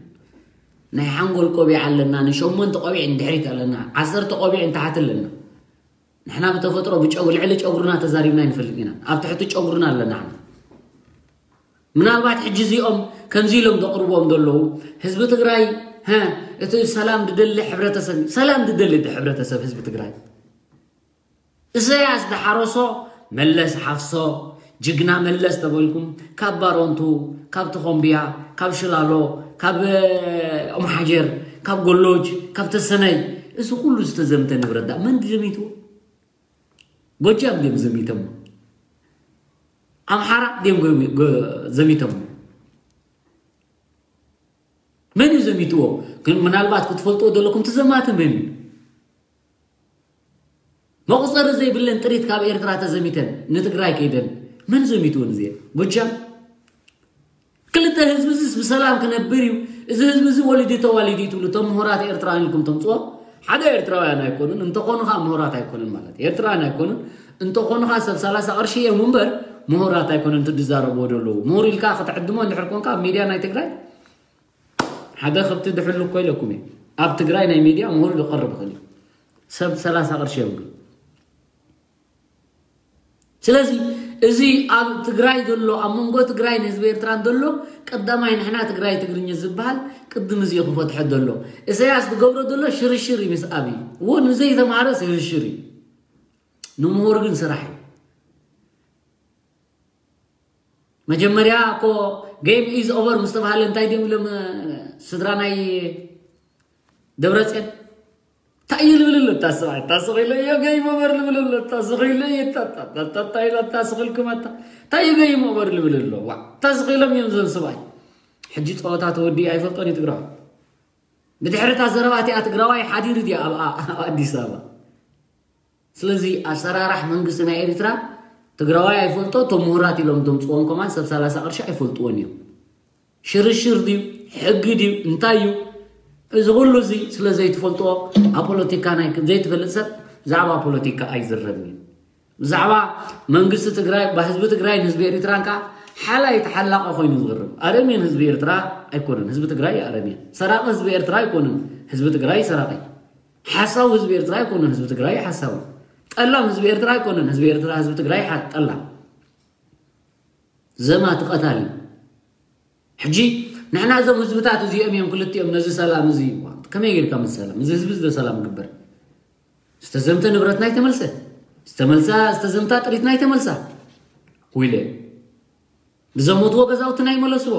ናይ ሓንጎል ቆቢዕ ኣለና፣ ንሸሞንተ ቆቢዕ ንድሕሪት ኣለና፣ ዓሰርተ ቆቢዕ ንታሕቲ ኣለና። ንሕና ብተፈጥሮ ብጨጉ ልዕሊ ጨጉርና ተዛሪብና ኣይንፈልጥ ኢና። ኣብ ትሕቲ ጨጉርና ኣለና። ምናልባት ሕጂ እዚኦም ከምዚ ኢሎም ዘቕርብዎም ዘለዉ ህዝቢ ትግራይ እቲ ሰላም ዝደሊ ሕብረተሰብ ሰላም ዝደሊ ሕብረተሰብ ህዝቢ ትግራይ እሰያስ ዝሓረሶ መለስ ሓፍሶ ጅግና መለስ ተበልኩም ካብ ባሮንቱ ካብ ተኾምብያ ካብ ሽላሎ ካብ ኦምሓጀር ካብ ጎሎጅ ካብ ተሰነይ እዚ ኩሉ ዝተዘምተ ንብረት ዳ መን ዘሚትዎ ጎጃም ድም ዘሚተሞ ኣምሓራ ድም ዘሚተሞ መን እዩ ዘሚትዎ? ግን ምናልባት ክትፈልጥዎ ዘለኩም እቲ ዘማተ መን እዩ? መቑፀሪ ዘይብለን ጥሪት ካብ ኤርትራ ተዘሚተን ንትግራይ ከይደን መን ዘሚትወን እዚአ? ጎጃም ክልተ ህዝቢ እዚስ ብሰላም ክነብር እዩ። እዚ ህዝቢ እዚ ወሊዱ ተዋሊዱ እዩ ትብሉ እቶም ምሁራት ኤርትራውያን ኢልኩም ተምፅዎ ሓደ ኤርትራውያን ኣይኮኑን እንተኾኑ ከዓ ምሁራት ኣይኮኑን ማለት ኤርትራውያን ኣይኮኑን እንተኾኑ ከዓ ሰብ ሰላሳ ቅርሺ እዮም እምበር ምሁራት ኣይኮኑን እቲ ዝዛረብዎ ዘለዉ ምሁር ኢልካ ክትዕድሞ እንድሕር ኮንካ ኣብ ሚድያ ናይ ትግራይ ሓደ ከብቲ ድሕሉ እኮ ኢለኩም እየ ኣብ ትግራይ ናይ ሚድያ ምሁር ዝቐርብ ይኽእል እዩ ሰብ ሰላሳ ቅርሺ እዮም ግን ስለዚ እዚ ኣብ ትግራይ ዘሎ ኣብ መንጎ ትግራይ ንህዝቢ ኤርትራን ዘሎ ቀዳማይ ንሕና ትግራይ ትግርኛ ዝበሃል ቅድም እዚ ክፈትሐ ዘሎ እሰያስ ዝገብሮ ዘሎ ሽርሽር እዩ ምስ ኣብይ እውን ንዘይተማሃረ ሽርሽር እዩ ንምሁር ግን ስራሕ እዩ መጀመርያ እኮ game is over ምስ ተባሃለ እንታይ ድዮም ኢሎም ስድራ ናይ ደብረፅዮን እንታይ እዩ ልብል ኣሎ እታ ሰብኣይ እታ ስቕ ኢለ እዮ ገይም ኦቨር ልብል ኣሎ እታ ስቕ ኢለ እዮ እታ ስቕ ኢልኩም ኣታ እንታይ እዩ ገይም ኦቨር ልብል ኣሎ ዋ እታ ስቕ ኢሎም እዮም ዞም ሰብኣይ ሕጂ ፀወታ ተወዲኡ ኣይፈልጦን እዩ ትግራዋይ ብድሕሪ እታ ዘረባ እቲኣ ትግራዋይ ሓዲሩ ድዩ ኣብ ኣዲስ ኣበባ ስለዚ ኣሰራራሕ መንግስቲ ናይ ኤርትራ ትግራዋይ ኣይፈልጦ እቶም ምሁራት ኢሎም እቶም ፅዎም ከማን ሰብ ሰላሳ ቅርሺ ኣይፈልጥዎን እዮም ሽርሽር ድዩ ሕጊ ድዩ እንታይ እዩ እዚ ኩሉ እዚ ስለ ዘይትፈልጥዎ ኣብ ፖለቲካ ናይ ዘይትፈልጥ ሰብ ብዛዕባ ፖለቲካ ኣይዝረብን እዩ ብዛዕባ መንግስቲ ትግራይ ብህዝቢ ትግራይን ህዝቢ ኤርትራን ከዓ ሓላይ ተሓላቐ ኮይኑ ዝቕርብ ኣረሜን ህዝቢ ኤርትራ ኣይኮነን ህዝቢ ትግራይ ኣረሜን ሰራቂ ህዝቢ ኤርትራ ኣይኮነን ህዝቢ ትግራይ ሰራቂ ሓሳዊ ህዝቢ ኤርትራ ኣይኮነን ህዝቢ ትግራይ ሓሳዊ ጠላም ህዝቢ ኤርትራ ኣይኮነን ህዝቢ ኤርትራ ህዝቢ ትግራይ ጠላም ዘማቲ ቀታሊ ሕጂ ንሕና እዞም ህዝብታት እዚኦም እዮም ክልቲኦም ነዚ ሰላም እዚ ከመይ ጌርካ ምስ ሰላም እዚ ህዝቢ እዚ ሰላም ግበር ዝተዘምተ ንብረትና ይተመልሰ ዝተመልሳ ዝተዘምታ ጥሪትና ኣይተመልሳ። ኩይለ ብዘሞትዎ ገዛውትና ይመለስዎ።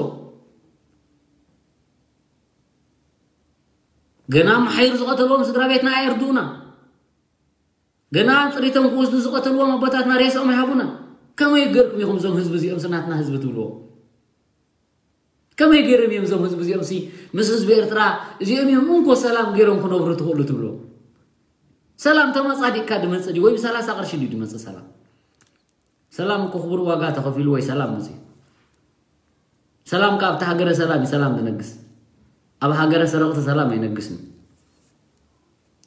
ገና መሓይር ዝቐተልዎም ስድራ ቤትና ኣየርድኡና። ገና ጥሪቶም ክወስዱ ዝቐተልዎም ኣቦታትና ሬስኦም ኣይሃቡና። ከመይ ገርኩም ኢኹም እዞም ህዝቢ እዚኦም ስናትና ህዝቢ ትብልዎ? ከመይ ገይሮም እዮም እዞም ህዝቢ እዚኦም ሲ ምስ ህዝቢ ኤርትራ እዚኦም እዮም እንኮ ሰላም ገይሮም ክነብሩ ትኽእሉ ትብልዎ? ሰላም ተመጻዲቅካ ድመጽእ ድዩ ወይ ብሰላሳ ቅርሺ ድዩ ድመጽእ ሰላም? ሰላም እኮ ክቡር ዋጋ ተኸፊሉ ወይ ሰላም መጽእ። ሰላም ካብ ኣብቲ ሃገረ ሰላም እዩ ሰላም ዝነግስ። ኣብ ሃገረ ሰረቕቲ ሰላም ኣይነግስን።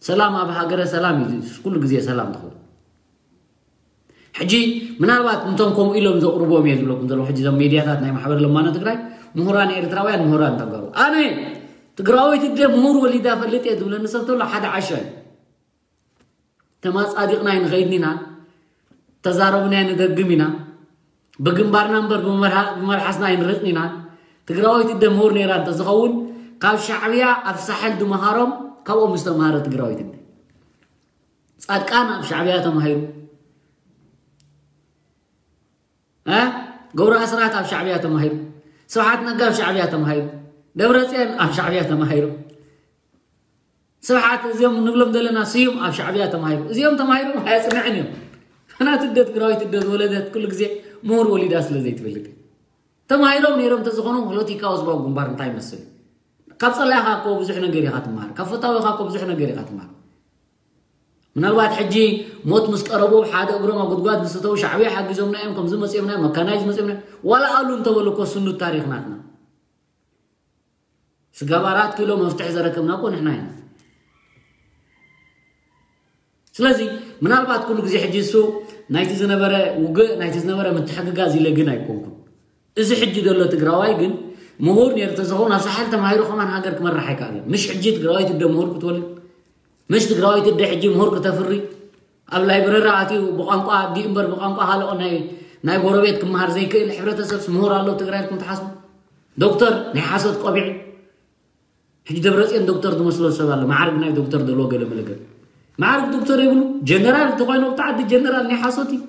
ሰላም ኣብ ሃገረ ሰላም እዩ ኩሉ ግዜ ሰላም ትኸውን። ሕጂ ምናልባት እንቶም ከምኡ ኢሎም ዘቕርቦም እየ ዝብለኩም ዘለኹ። ሕጂ እዞም ሜድያታት ናይ ማሕበር ለማኖ ትግራይ፣ ምሁራን ኤርትራውያን፣ ምሁራን ተጋሩ፣ ኣነ ትግራወይቲ እደ ምሁር ወሊዳ ፈልጥ እየ ዝብለኒ ሰብ ተሎ ሓደ ዓሻ እዩ። ተማጻዲቕና ኣይንኸይድን ኢና፣ ተዛረብና ኣይንደግም ኢና፣ ብግንባርና እምበር ብመርሃ- ብመልሓስና ኣይንርቕን ኢና። ትግራወይቲ እደ ምሁር ነይራ እንተዝኸውን ካብ ሻዕብያ ኣብ ሳሕል ድመሃሮም ካብኦም ዝተምሃረ ትግራወይቲ እደ። ጻድቃን ኣብ ሻዕብያ ተማሂሩ። እ? ገብሩ ኣስራት ኣብ ሻዕብያ ተማሂሩ። ስብሓት ነጋ ኣብ ሻዕብያ ተማሂሩ። ደብረጽዮን ኣብ ሻዕብያ ተማሂሩ። ስብሓት እዚኦም ንብሎም ዘለና ስዩም ኣብ ሻዕብያ ተማሂሩ። እዚኦም ተማሂሮም ኣየጽንዕን እዮም። ናቲ እደ ትግራዊት እደ ዝወለደት ኩሉ ግዜ ምሁር ወሊዳ ስለ ዘይትፈልጥ። ተማሂሮም ነይሮም እንተዝኾኑ ፖለቲካዊ ህዝባዊ ግንባር እንታይ ይመስል? ካብ ጸላኢኻ እኮ ብዙሕ ነገር ኢኻ ትመሃር። ካብ ፈታዊኻ እኮ ብዙሕ ነገር ኢኻ ትመሃር። ምናልባት ሕጂ ሞት ምስ ቀረቦም ሓደ እግሮም ኣብ ጉድጓድ ምስ እተው ሻዕብያ ሓጊዞምና እዮም፣ ከምዚ መጺኦምና እዮም፣ መካናይዝ መጺኦምና እዮም። ዋላ ኣሉ እንተበሉ እኮ ስኑድ ታሪኽ ናትና። ስጋብ ኣራት ኪሎ መፍትሒ ዘረከብና እኮ ንሕና ኢና። ስለዚ ምናልባት ኩሉ ግዜ ሕጂ እሱ ናይቲ ዝነበረ ውግእ ናይቲ ዝነበረ ምትሕግጋዝ ኢለ ግን ኣይኮንኩን። እዚ ሕጂ ዘሎ ትግራዋይ ግን ምሁር ነይሩ ተዝኸውን ኣብ ሳሕል ተማሂሩ ከማን ሃገር ክመራሕ ኣይከኣለን። ምሽ ሕጂ ትግራዋይቲ እደ ምሁር ክትወልድ፣ ምሽ ትግራዋይቲ እደ ሕጂ ምሁር ክተፍሪ፣ ኣብ ላይብረሪ ኣትዩ ብቋንቋ ኣዲኡ እምበር ብቋንቋ ካልኦ ናይ ናይ ጎረቤት ክመሃር ዘይክእል ሕብረተሰብስ ምሁር ኣሎ ትግራይ ኢልኩም ትሓስቡ? ዶክተር ናይ ሓሶት ቆቢዕ። ሕጂ ደብረፅዮን ዶክተር ዝመስሎ ሰብ ኣሎ፣ ማዕርግ ናይ ዶክተር ዘለዎ ገለ መለገ። ማዕርግ ዶክተር የብሉ። ጀነራል እንተኮይኑ ኣብቲ ዓዲ ጀነራል ናይ ሓሶት እዩ።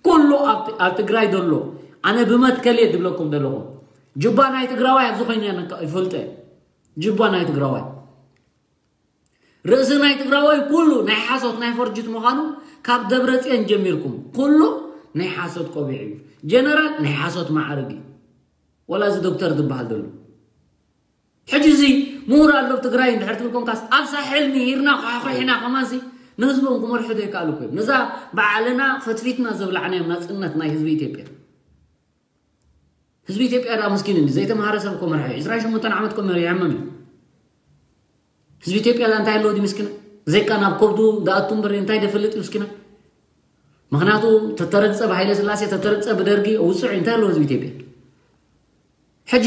ኩሉ ኣብ ኣብ ትግራይ ዘሎ ኣነ ብመትከል እየ ዝብለኩም ዘለኹ። ጅባ ናይ ትግራዋይ ኣብዚ ኮይነ ነካ ይፈልጠ። ጅባ ናይ ትግራዋይ ርእሲ ናይ ትግራዋይ ኩሉ ናይ ሓሶት ናይ ፈርጅት ምዃኑ ካብ ደብረፅዮን ጀሚርኩም ኩሉ ናይ ሓሶት ቆቢዕ እዩ። ጀነራል ናይ ሓሶት ማዕርግ እዩ። ወላ እዚ ዶክተር ዝበሃል ዘሎ ሕጂ እዚ ምሁር ኣሎ ኣብ ትግራይ እንድሕር ትብል ኮንካስ ኣብ ሳሕል ምሂርና ኳሕኩሕና ከማንሲ ንህዝቦም ክመርሑ ዘይከኣሉ እኮ እዮም። ነዛ ባዕልና ፈትፊትና ዘብላዕናዮም ናፅነት ናይ ህዝቢ ኢትዮጵያ። ህዝቢ ኢትዮጵያ ደኣ ምስኪን እንዲ ዘይተምሃረ ሰብ እኮ መርሒ እዩ። ዕስራን ሸሞንተን ዓመት እኮ መሪሖም እዮም። ህዝቢ ኢትዮጵያ ደኣ እንታይ ኣለዎ ድዩ ምስኪና? ዘይካ ናብ ከብዱ ደኣቱ እምበር እንታይ ደፈልጥ እዩ ምስኪና? ምክንያቱ ተተረግፀ ብሃይለ ስላሴ ተተረግፀ ብደርጊ ውፅዕ እንታይ ኣለዎ ህዝቢ ኢትዮጵያ? ሕጂ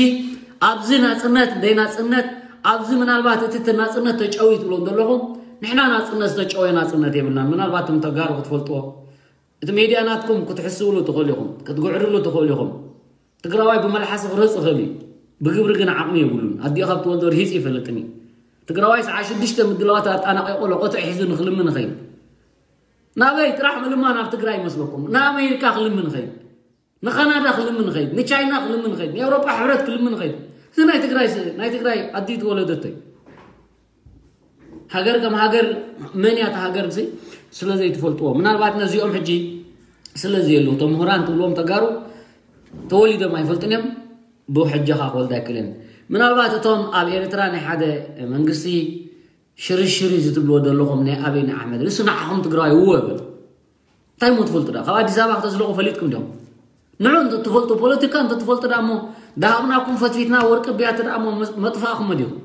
ኣብዚ ናፅነት ደይ ናፅነት ኣብዚ ምናልባት እቲ እቲ ናፅነት ተጨዊ ትብሎም ዘለኹም ንሕና ናፅነት ዝተጨወ ናፅነት የብልናን። ምናልባት እቶም ተጋሩ ክትፈልጥዎ እቲ ሜድያ ናትኩም ክትሕስብሉ ትኽእሉ ኢኹም፣ ክትግዕርሉ ትኽእሉ ኢኹም። ትግራዋይ ብመልሓሲ ክረፅ ይኽእል እዩ፣ ብግብሪ ግን ዓቕሚ የብሉን። ኣዲኡ ካብ ትወልዶ ርሂፅ ይፈልጥን እዩ። ትግራዋይ ሰዓ ሽዱሽተ ምድላዋት ኣጣናቂቑ ለቆትዕ ሒዙ ንክልምን ይኸይድ። ናበይ ጥራሕ ምልማን ኣብ ትግራይ ይመስለኩም? ንኣሜሪካ ክልምን ይኸይድ፣ ንካናዳ ክልምን ይኸይድ፣ ንቻይና ክልምን ይኸይድ፣ ንኤውሮጳ ሕብረት ክልምን ይኸይድ። እዚ ናይ ትግራይ ስ- ናይ ትግራይ ኣዲኡ ትወለደቶ እዩ። ሃገር ከም ሃገር መን እያ እታ ሃገር ሲ ስለ ዘይትፈልጥዎ ምናልባት ነዚኦም ሕጂ ስለ ዘየሉ እቶም ምሁራን ትብልዎም ተጋሩ ተወሊዶም ኣይፈልጥን እዮም። ብሕጃኻ ክወልድ ኣይክእልን። ምናልባት እቶም ኣብ ኤርትራ ናይ ሓደ መንግስቲ ሽርሽር እዩ ዝትብልዎ ዘለኹም ናይ ኣብይ ናይ ኣሕመድ ንሱ ንዓኹም ትግራዋይ እወ በል። እንታይ ሞ ትፈልጡ ዳ ካብ ኣዲስ ኣበባ ክተዝለቑ ፈሊጥኩም ዲኹም? ንዑ እንተትፈልጡ ፖለቲካ እንተትፈልጡ ዳ እሞ ዳሃብናኩም ፈትፊትና ወርቂ ብያቲ ዳ እሞ መጥፋእኩም ዲኹም?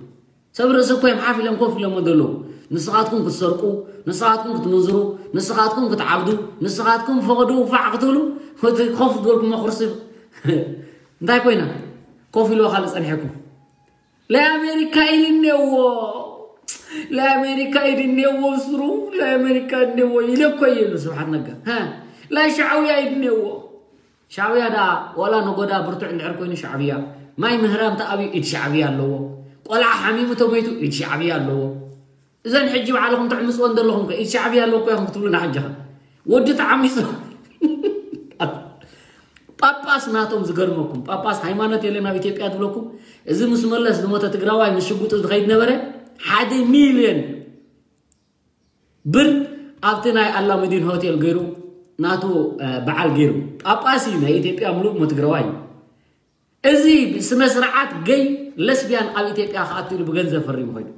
ሰብ ርእሲ እኮ እዮም ሓፍ ኢሎም ኮፍ ኢሎም ዘለዉ። ንስኻትኩም ክትሰርቁ፣ ንስኻትኩም ክትምንዝሩ፣ ንስኻትኩም ክትዓብዱ፣ ንስኻትኩም ፈቐዶ ውፋዕ ክትብሉ እቲ ኮፍ ዝበልኩሞ ኩርሲ እንታይ ኮይና ኮፍ ኢልዎ ካልእ ጸኒሐኩም? ለኣሜሪካ ኢድ እኔዎ ለኣሜሪካ ኢድ እኔዎ ስሩ ለኣሜሪካ እኔዎ ኢለ እኮ እየ ኢሉ ስብሓት ነጋ። ለሻዕውያ ኢድ እኔዎ ሻዕብያ ደኣ ዋላ ነጎዳ ብርቱዕ እንድሕር ኮይኑ ሻዕብያ ማይ ምህራም ተኣብዩ ኢድ ሻዕብያ ኣለዎ። ቆልዓ ሓሚሙ ተሞይቱ ኢድ ሻዕብያ ኣለዎ። እዘን ሕጂ ባዕልኹም ትዕምፅወን ዘለኹም ከ ኢድ ሻዕብያ ኣለዎ እኮ ኢኹም ክትብሉና ሕጂ ኸ ወዲ ተዓሚሱ። ጳጳስ ናቶም ዝገርመኩም፣ ጳጳስ ሃይማኖት የለን ኣብ ኢትዮጵያ ዝብለኩም። እዚ ምስ መለስ ዝሞተ ትግራዋይ ምስ ሽጉጡ ዝኸይድ ነበረ። ሓደ ሚልዮን ብር ኣብቲ ናይ ኣላሙዲን ሆቴል ገይሩ ናቱ በዓል ገይሩ። ጳጳስ እዩ፣ ናይ ኢትዮጵያ ምሉእ እሞ ትግራዋይ እዩ። እዚ ስነ ስርዓት ገይ ለስቢያን ኣብ ኢትዮጵያ ክኣቱ ኢሉ ብገንዘብ ፈሪሙ ኮይኑ።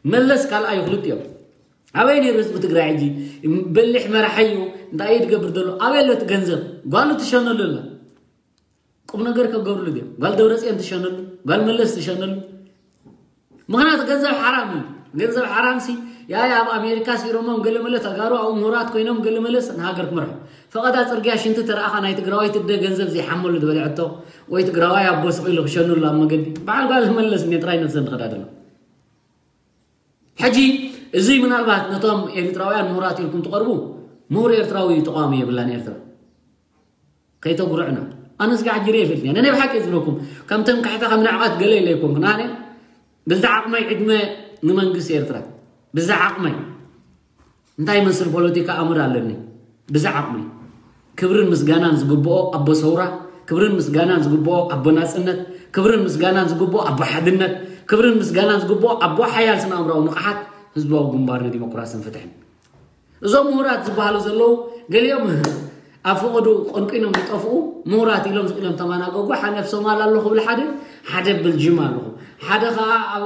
መለስ ካልኣዩ ክልቲኦም። ኣበይ ነይሩ ህዝቢ ትግራይ ሕጂ? በሊሕ መራሒ እዩ። እንታይ እዩ ትገብር ዘሎ? ኣበይ ኣሎ እቲ ገንዘብ? ጓሉ ትሸነሉ ኣላ። ቁም ነገር ከገብርሉ ድዮም? ጓል ደብረፅዮን ትሸነሉ፣ ጓል መለስ ትሸነሉ። ምክንያቱ ገንዘብ ሓራም እዩ። ገንዘብ ሓራም ሲ ያይ ኣብ ኣሜሪካ ሲሮሞም ገለመለ ተጋሩ ኣብኡ ምሁራት ኮይኖም ገለመለስ ንሃገር ክመርሑ። ፈቐዳ ፅርግያ ሽንቲ ተረኣኻ ናይ ትግራዋይ ትደ ገንዘብ ዘይሓመሉ ዝበልዐቶ ወይ ትግራዋይ ኣቦ ስቕ ኢሉ ክሸኑሉ ኣብ መገዲ በዓል ጓል መለስ እኔ ጥራይ ነብሰን ትኸዳ ዘሎ። ሕጂ እዚ ምናልባት ነቶም ኤርትራውያን ምሁራት ኢልኩም ትቐርቡ ምሁር ኤርትራዊ ተቃዋሚ የብላን ኤርትራ። ከይተጉርዕና ኣነ ስጋዕ ጅሬ ይፈልጥ ነነ ብሓቂ ዝብለኩም ከም ተንካሕታ ከም ንዕቐት ገለ ኢለ ኣይኮንኩን ኣነ ብዛ ዓቕመይ ዕድመ ንመንግስቲ ኤርትራ ብዛ ዓቕመይ እንታይ መስል ፖለቲካ ኣምር ኣለኒ ብዛ ዓቕመይ ክብርን ምስጋናን ዝግብኦ ኣቦ ሰውራ ክብርን ምስጋናን ዝግብኦ ኣቦ ናጽነት ክብርን ምስጋናን ዝግብኦ ኣቦ ሓድነት ክብርን ምስጋናን ዝግብኦ ኣቦ ሓያል ስነ ኣእምራዊ ንቕሓት ህዝባዊ ግንባር ንዲሞክራስን ፍትሕን እዞም ምሁራት ዝበሃሉ ዘለዉ ገሊኦም ኣብ ፈቐዱ ቆንቂኖም ዝጠፍኡ ምሁራት ኢሎም ዝኢሎም ተማናገጉ ሓደ ኣብ ሶማል ኣለኹ ብል ሓደ ሓደ ኣብ በልጅም ኣለኹ ሓደ ከዓ ኣብ